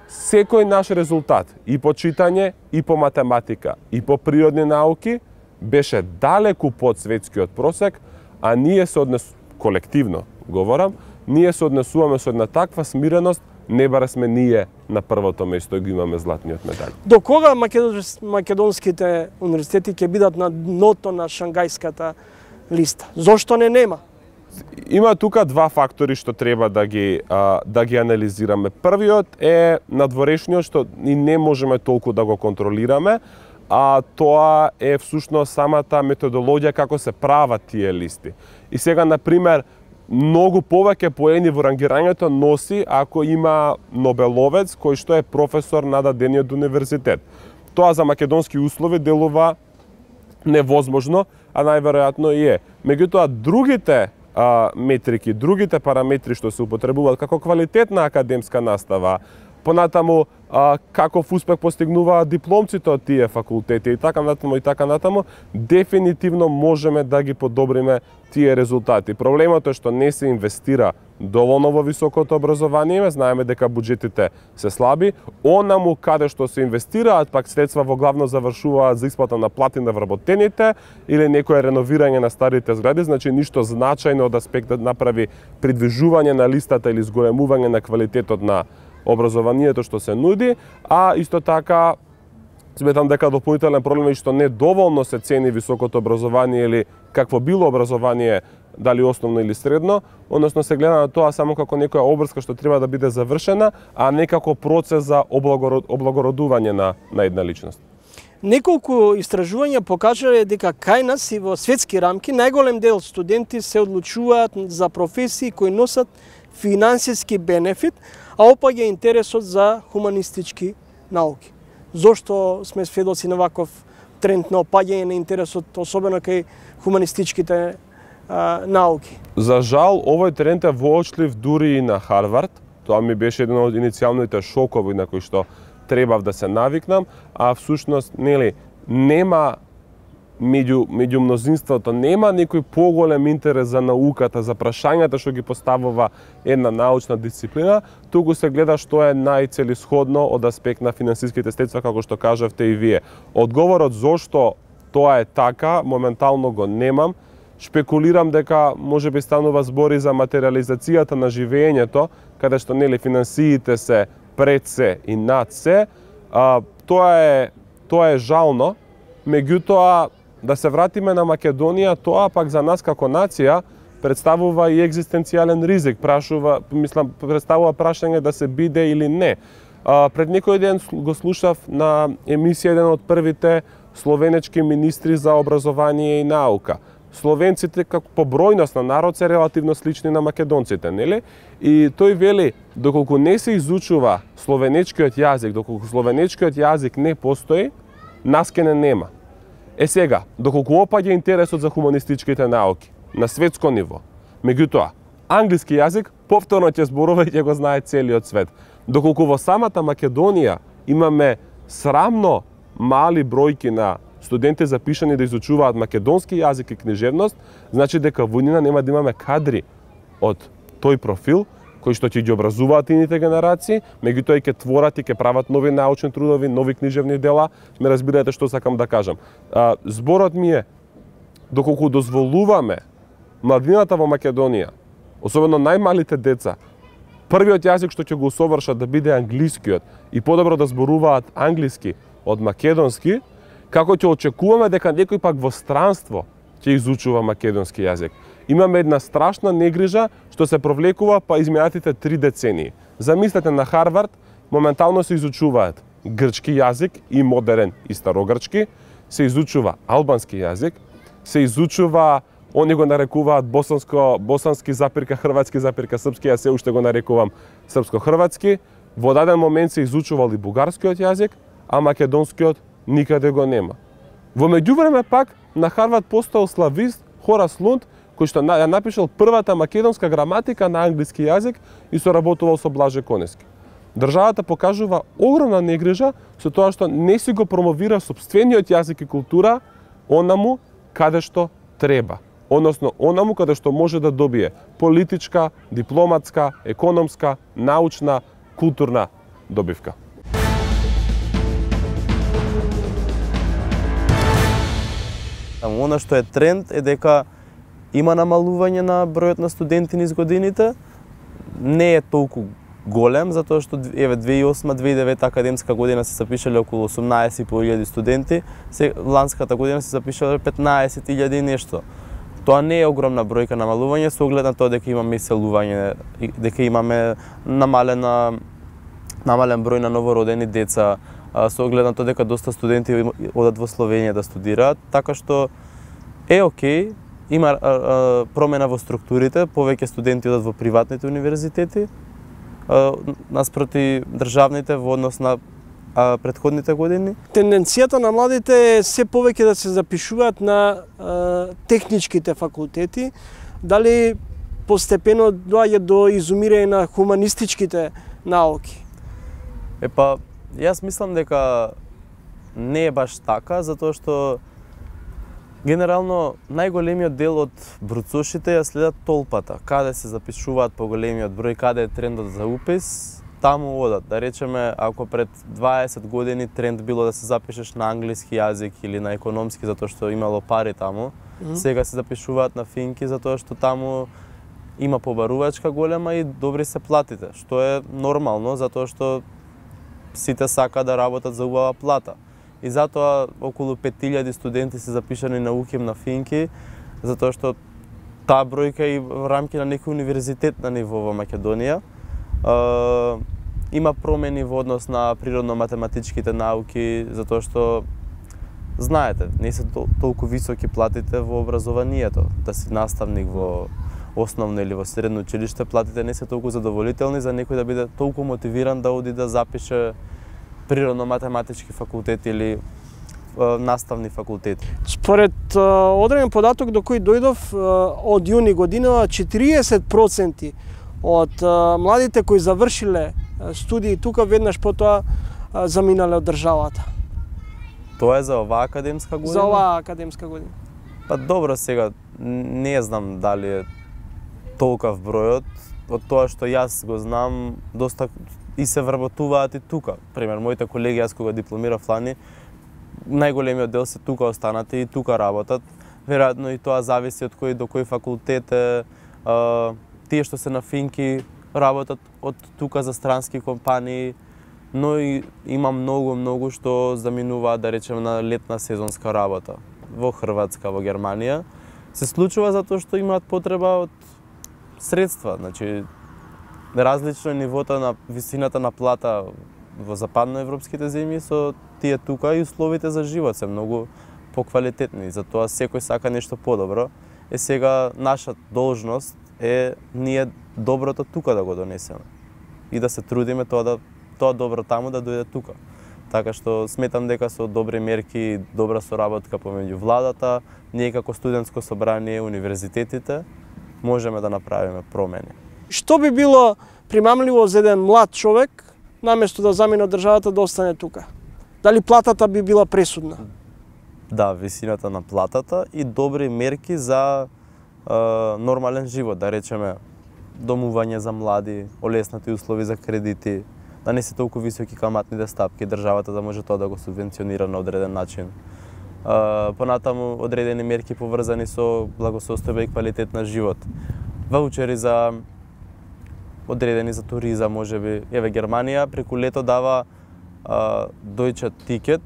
секој наш резултат и по читање, и по математика, и по природни науки беше далеку под светскиот просек, а ние се однес колективно говорам, ние се однесуваме со една таква смиреност, не баре сме ние на првото место и го имаме златниот медал. До кога македонските универзитети ќе бидат на дното на шангајската листа? Зошто не нема? Има тука два фактори што треба да ги а, да ги анализираме. Првиот е надворешниот што и не можеме толку да го контролираме, а тоа е всушност самата методологија како се прават тие листи. И сега, на пример, многу повеќе поени во рангирањето носи ако има нобеловец кој што е професор на дадениот универзитет. Тоа за македонски услови делува невозможно, а најверојатно и е. Меѓутоа, другите а, метрики, другите параметри што се употребуваат како квалитетна академска настава, понатаму а, каков успех постигнуваат дипломците од тие факултети и така натаму и така натаму, дефинитивно можеме да ги подобриме тие резултати. Проблемот е што не се инвестира доволно во високото образование, знаеме дека буџетите се слаби, онаму каде што се инвестираат пак средства во главно завршуваат за исплата на плати на вработените или некое реновирање на старите згради, значи ништо значајно од аспектот направи придвижување на листата или зголемување на квалитетот на образованието што се нуди, а исто така сметам дека дополнителен проблем е што не доволно се цени високото образование или какво било образование, дали основно или средно, односно се гледа на тоа само како некоја обврска што треба да биде завршена, а не како процес за облагородување на, на една личност. Неколку истражувања покажале дека кај нас и во светски рамки најголем дел студенти се одлучуваат за професии кои носат финансиски бенефит, а опаѓа интересот за хуманистички науки. Зошто сме сведоци на ваков тренд на опаѓање на интересот, особено кај хуманистичките а, науки? За жал, овој тренд е воочлив дури и на Харвард. Тоа ми беше еден од иницијалните шокови на кои што требав да се навикнам, а всушност нели нема меѓу меѓу мнозинството нема некој поголем интерес за науката, за прашањата што ги поставува една научна дисциплина, туку се гледа што е најцелисходно од аспект на финансиските средства, како што кажавте и вие. Одговорот зошто тоа е така, моментално го немам. Шпекулирам дека можеби станува збори за материализацијата на живеењето, каде што нели финансиите се пред се и над се. А, тоа е тоа е жално, меѓутоа да се вратиме на Македонија, тоа пак за нас како нација представува и екзистенцијален ризик, прашува, мислам, представува прашање да се биде или не. А, пред некој ден го слушав на емисија еден од првите словенечки министри за образование и наука. Словенците како по бројност на народ се релативно слични на македонците, нели? И тој вели, доколку не се изучува словенечкиот јазик, доколку словенечкиот јазик не постои, нас ке не нема. Е сега, доколку опаѓа интересот за хуманистичките науки на светско ниво, меѓутоа, англиски јазик повторно ќе зборува и ќе го знае целиот свет. Доколку во самата Македонија имаме срамно мали бројки на студенти запишани да изучуваат македонски јазик и книжевност, значи дека во нина нема да имаме кадри од тој профил, кои што ќе ги образуваат ините генерации, меѓутоа и ќе творат и ќе прават нови научни трудови, нови книжевни дела. Ме разбирате што сакам да кажам. А, зборот ми е, доколку дозволуваме младината во Македонија, особено најмалите деца, првиот јазик што ќе го усовршат да биде англискиот и подобро да зборуваат англиски од македонски, како ќе очекуваме дека некој пак во странство ќе изучува македонски јазик. Имаме една страшна негрижа што се провлекува па изминатите три децении. Замислете на Харвард, моментално се изучуваат грчки јазик и модерен и старогрчки, се изучува албански јазик, се изучува, они го нарекуваат босанско, босански запирка, хрватски запирка, српски, ја се уште го нарекувам српско-хрватски. Во даден момент се изучувал и бугарскиот јазик, а македонскиот никаде го нема. Во меѓувреме пак на Харвард постоел славист Хорас Лунд, кој што ја напишал првата македонска граматика на англиски јазик и соработувал со Блаже Конески. Државата покажува огромна негрижа со тоа што не си го промовира сопствениот јазик и култура онаму каде што треба. Односно, онаму каде што може да добие политичка, дипломатска, економска, научна, културна добивка. Она што е тренд е дека има намалување на бројот на студенти низ годините. Не е толку голем, затоа што еве две илјади и осма две илјади и девета академска година се запишале околу осумнаесет и по илјади студенти, се ланската година се запишале петнаесет илјади и нешто. Тоа не е огромна бројка намалување со оглед на тоа дека имаме иселување, дека имаме намалена намален број на новородени деца, со оглед на тоа дека доста студенти одат во Словенија да студираат, така што е окей, има а, а, промена во структурите, повеќе студенти одат во приватните универзитети, а, наспроти државните во однос на а претходните години. Тенденцијата на младите е се повеќе да се запишуваат на е, техничките факултети. Дали постепено доаѓа до изумирање на хуманистичките науки? Епа, јас мислам дека не е баш така, затоа што генерално најголемиот дел од бруцошите ја следат толпата. Каде се запишуваат по големиот број, каде е трендот за упис, таму одат. Да речеме, ако пред дваесет години тренд било да се запишеш на англиски јазик или на економски затоа што имало пари таму, mm -hmm. сега се запишуваат на финки затоа што таму има побарувачка голема и добри се платите, што е нормално затоа што сите сака да работат за убава плата. И затоа околу пет илјади студенти се запишани на УКИМ на финки, затоа што таа бројка и во рамки на некој универзитет на ниво во Македонија. Uh, има промени во однос на природно-математичките науки, затоа што знаете, не се тол толку високи платите во образованието. Да си наставник во основно или во средно училиште, платите не се толку задоволителни за некој да биде толку мотивиран да оди да запише природно-математички факултет или uh, наставни факултети. Според uh, одреден податок до кој дојдов uh, од јуни година, четириесет проценти од uh, младите кои завршиле uh, студии тука веднаш потоа uh, заминале од државата. Тоа е за оваа академска година? За оваа академска година. Па добро, сега не знам дали е толков бројот, од тоа што јас го знам, доста и се вработуваат и тука. Пример, моите колеги, јас кога дипломирав лани, најголемиот дел се тука останати и тука работат. Веројатно и тоа зависи од кој до кој факултет е. Uh, тие што се на финки работат од тука за странски компании, но и има многу, многу што заминуваат, да речеме, на летна сезонска работа во Хрватска, во Германија. Се случува затоа што имаат потреба од средства, значи различно е нивото на висината на плата во западноевропските земји со тие тука и условите за живот се многу поквалитетни, затоа секој сака нешто подобро. Е сега наша должност е ние доброто тука да го донесеме и да се трудиме тоа да тоа добро таму да дојде тука. Така што сметам дека со добри мерки и добра соработка помеѓу владата, ние како студентско собрание, универзитетите можеме да направиме промени. Што би било примамливо за еден млад човек наместо да замине од државата да остане тука? Дали платата би била пресудна? Да, висината на платата и добри мерки за Uh, нормален живот, да речеме домување за млади, олеснати услови за кредити, да не се толку високи каматните стапки, државата да може тоа да го субвенционира на одреден начин. Uh, понатаму одредени мерки поврзани со благосостојба и квалитет на живот. Ваучери за одредени за туризам, можеби. Еве Германија преку лето дава uh, Deutsche Ticket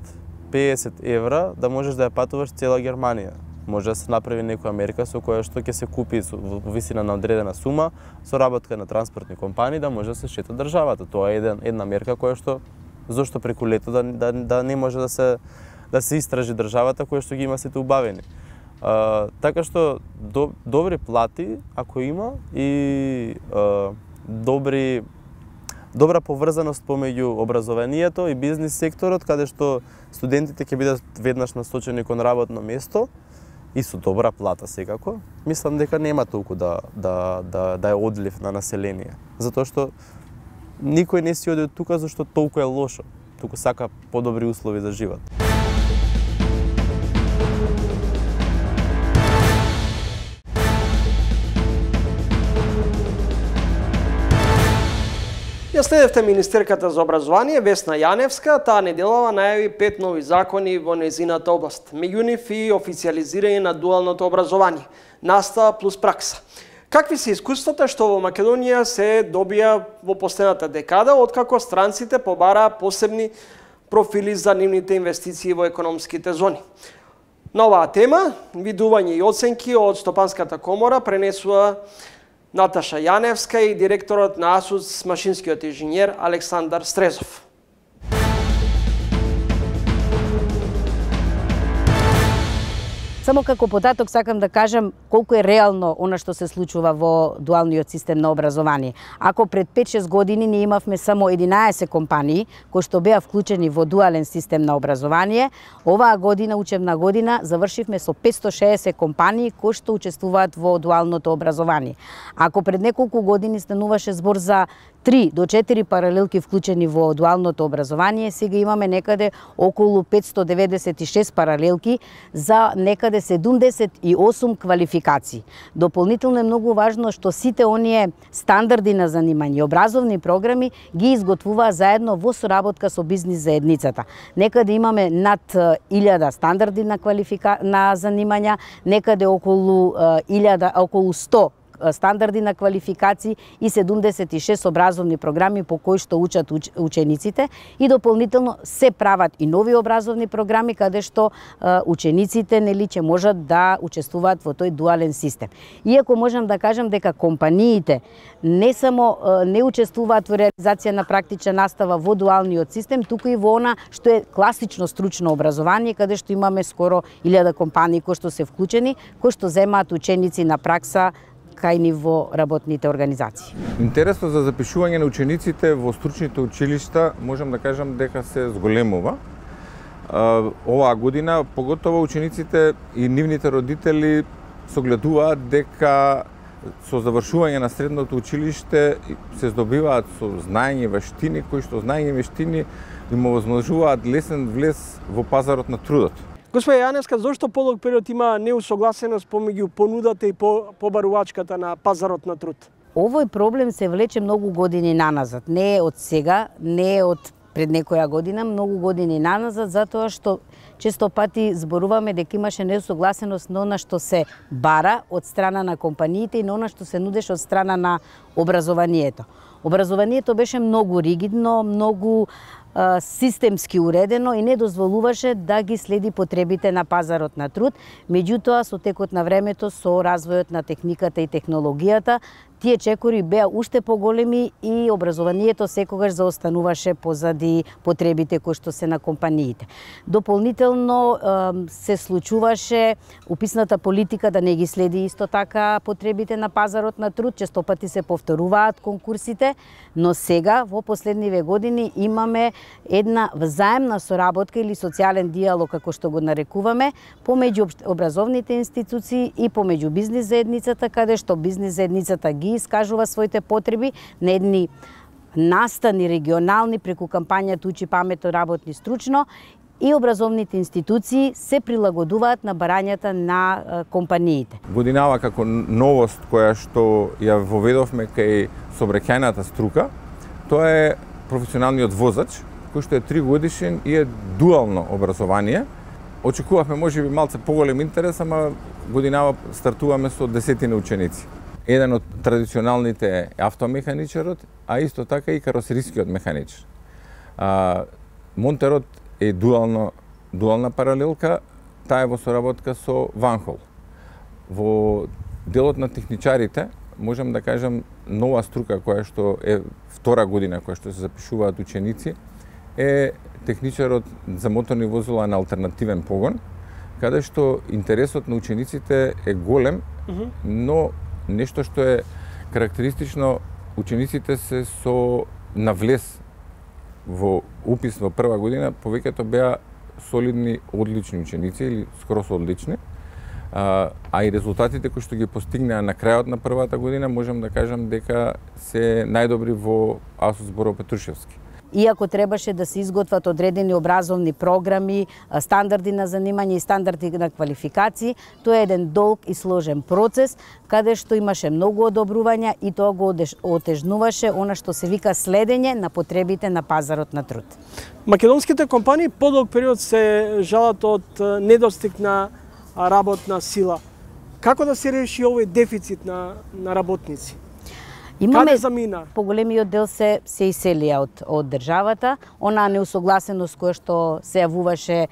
педесет евра да можеш да ја патуваш цела Германија. Може да се направи некоја мерка со која што ќе се купи во висина на одредена сума со работка на транспортни компании да може да се шета државата. Тоа е еден, една мерка која што зошто преку лето да, да, да не може да се да се истражи државата која што ги има сите убавени. А, така што до, добри плати ако има и а, добри добра поврзаност помеѓу образованието и бизнис секторот каде што студентите ќе бидат веднаш насочени кон работно место и со добра плата секако, мислам дека нема толку да да да да е одлив на население, затоа што никој не си оди од тука зашто толку е лошо, туку сака подобри услови за живот. Ја следевте министерката за образование Весна Јаневска, таа неделава најави пет нови закони во незината област. Меѓу нив и официализирање на дуалното образование, настава плюс пракса. Какви се искуствата што во Македонија се добија во последната декада, откако странците побараа посебни профили за нивните инвестиции во економските зони? На оваа тема, видување и оценки од Стопанската комора пренесува Наташа Јаневска и директорот на АСУС, машинскиот инженер Александар Стрезов. Само како податок сакам да кажам колку е реално она што се случува во дуалниот систем на образование. Ако пред пет-шест години ние имавме само единаесет компании кои што беа вклучени во дуален систем на образование, оваа година, учебна година, завршивме со петсто шеесет компании кои што учествуваат во дуалното образование. Ако пред неколку години стануваше збор за три до четири паралелки вклучени во дуалното образование, сега имаме некаде околу петсто деветдесет и шест паралелки за некаде седумдесет и осум квалификации. Дополнително е многу важно што сите оние стандарди на занимање, образовни програми ги изготвуваа заедно во соработка со бизнис заедницата. Некаде имаме над илјада стандарди на квалифика на занимања, некаде околу илјада, околу сто стандарди на квалификации и седумдесет и шест образовни програми по кои што учат уч, учениците и дополнително се прават и нови образовни програми каде што е, учениците нели ќе можат да учествуваат во тој дуален систем. Иако можам да кажам дека компаниите не само е, не учествуваат во реализација на практична настава во дуалниот систем, туку и во она што е класично стручно образование, каде што имаме скоро илјада компании кои што се вклучени, кои што земаат ученици на пракса кај ниво работните организации. Интересот за запишување на учениците во стручните училишта можам да кажам дека се зголемува. Оваа година поготово учениците и нивните родители согледуваат дека со завршување на средното училиште се здобиваат со знаење и вештини кои што знаење и вештини им овозможуваат лесен влез во пазарот на трудот. Господи Јаневска, зошто подолг период има неусогласеност помеѓу понудата и побарувачката на пазарот на труд? Овој проблем се влече многу години наназад. Не е од сега, не е од пред некоја година, многу години наназад, затоа што често пати зборуваме дека имаше неусогласеност на она што се бара од страна на компаниите и на она што се нудеше од страна на образованието. Образованието беше многу ригидно, многу системски уредено и не дозволуваше да ги следи потребите на пазарот на труд. Меѓутоа, со текот на времето, со развојот на техниката и технологијата, тие чекори беа уште поголеми и образованието секогаш заостануваше позади потребите кои што се на компаниите. Дополнително се случуваше уписната политика да не ги следи исто така потребите на пазарот на труд, често пати се повторуваат конкурсите, но сега во последниве години имаме една взаемна соработка или социјален диалог, како што го нарекуваме, помеѓу образовните институции и помеѓу бизнис заедницата, каде што бизнис заедницата ги искажува своите потреби на едни настани регионални преку кампањата Учи паметно, работни стручно, и образовните институции се прилагодуваат на барањата на компаниите. Годинава како новост која што ја воведовме кај сообраќајната струка, тоа е професионалниот возач, кој што е три годишен и е дуално образование. Очекувавме можеби малце поголем интерес, ама годинава стартуваме со десетина ученици. Еден од традиционалните е автомеханичарот, а исто така и каросерискиот механичар. А, Монтерот е дуално, дуална паралелка, таа е во соработка со Ванхол. Во делот на техничарите, можам да кажам, нова струка која што е втора година која што се запишуваат ученици, е техничарот за моторни возила на алтернативен погон, каде што интересот на учениците е голем, но нешто што е карактеристично, учениците се со навлез во упис во прва година, повеќето беа солидни, одлични ученици или скрос одлични, а, а и резултатите кои што ги постигнаа на крајот на првата година, можам да кажам дека се најдобри во АСУ Зборо Петрушевски. Иако требаше да се изготват одредени образовни програми, стандарди на занимање и стандарди на квалификации, тоа е еден долг и сложен процес, каде што имаше многу одобрувања и тоа го отежнуваше она што се вика следење на потребите на пазарот на труд. Македонските компании подолг период се жалат од недостиг на работна сила. Како да се реши овој дефицит на, на работници? Имаме, Каде замина? Поголемиот дел се се иселија од, од државата, онаа неусогласеност која што се јавуваше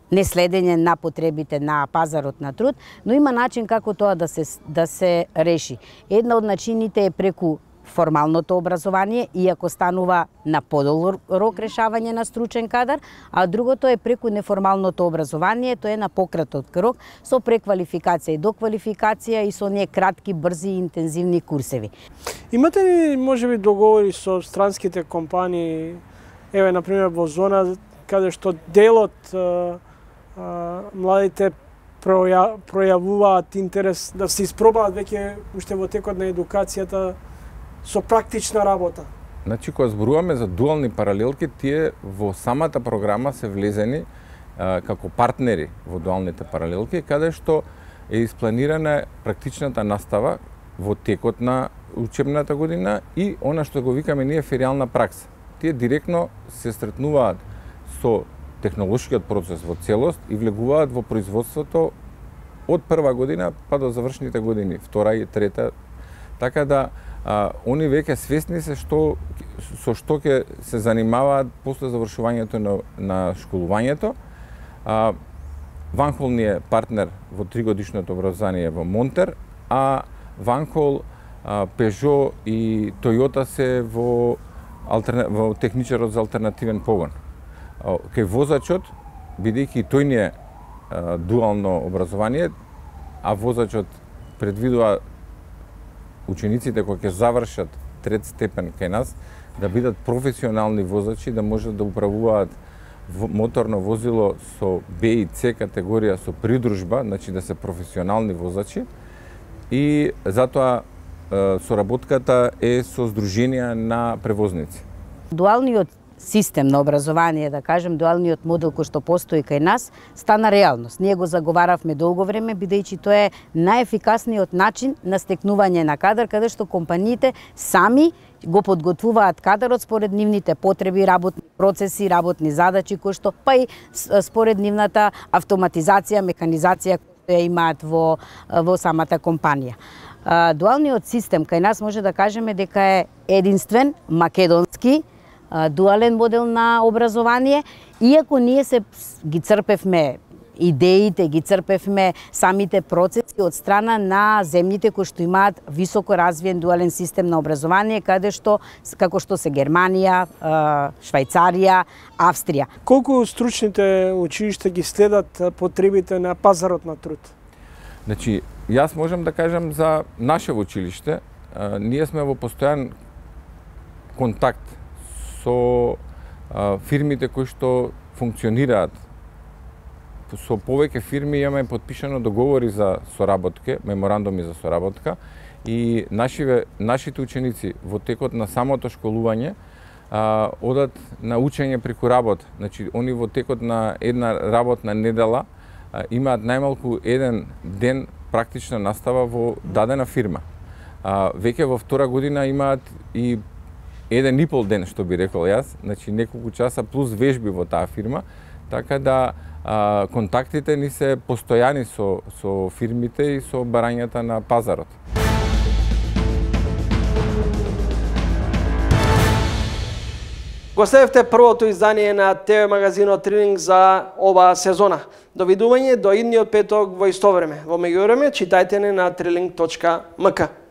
неследење на потребите на пазарот на труд, но има начин како тоа да се да се реши. Една од начините е преку формалното образование, иако станува на подолг рок решавање на стручен кадар, а другото е преку неформалното образование, тоа е на пократок рок, со преквалификација и доквалификација и со оние кратки, брзи и интензивни курсеви. Имате ли можеби договори со странските компании, еве на пример во зона каде што делот а, а, младите проја, пројавуваат интерес да се испробаат веќе уште во текот на едукацијата со практична работа? Значи, кога зборуваме за дуални паралелки, тие во самата програма се влезени а, како партнери во дуалните паралелки, каде што е испланирана практичната настава во текот на учебната година и она што го викаме ние фериална пракса. Тие директно се сретнуваат со технолошкиот процес во целост и влегуваат во производството од прва година па до завршните години, втора и трета. Така да а, они веќе свесни се што со што ќе се занимаваат после завршувањето на, на школувањето. А, Ванхол ни е партнер во тригодишното образование во Монтер, а Ванхол, Пежо и Тојота се во, алтерна... во техничарот за алтернативен погон. Кај возачот, бидејќи тој ни е а, дуално образование, а возачот предвидува учениците кои ќе завршат трет степен кај нас, да бидат професионални возачи, да можат да управуваат моторно возило со Б и С категорија со придружба, значи да се професионални возачи. И затоа соработката е со здруженија на превозници. Дуалниот систем на образование, да кажем, дуалниот модел кој што постои кај нас, стана реалност. Ние го заговаравме долго време, бидејќи тоа е најефикасниот начин на стекнување на кадар, каде што компаниите сами го подготвуваат кадарот според нивните потреби, работни процеси, работни задачи, кои што па и според нивната автоматизација, механизација која ја имаат во, во самата компанија. Дуалниот систем кај нас може да кажеме дека е единствен македонски дуален модел на образование, иако ние се ги црпевме идеите, ги црпевме самите процеси од страна на земјите кои што имаат високо развиен дуален систем на образование, каде што како што се Германија, Швајцарија, Австрија. Колку стручните училишта ги следат потребите на пазарот на труд? Значи, јас можам да кажам за наше училиште, а, ние сме во постојан контакт со а, фирмите кои што функционираат. Со повеќе фирми имаме подпишано договори за соработка, меморандуми за соработка и нашиве, нашите ученици во текот на самото школување а, одат на учење преку работа. Значи, они во текот на една работна недела а, имаат најмалку еден ден практична настава во дадена фирма. А, веќе во втора година имаат и еден и пол ден, што би рекол јас, значи неколку часа плюс вежби во таа фирма, така да а, контактите ни се постојани со, со фирмите и со барањата на пазарот. Го следевте првото издание на Т В магазинот Трилинг за оваа сезона. Довидување до идниот петок во исто време. Во меѓувреме, читајте не на трилинг точка м к.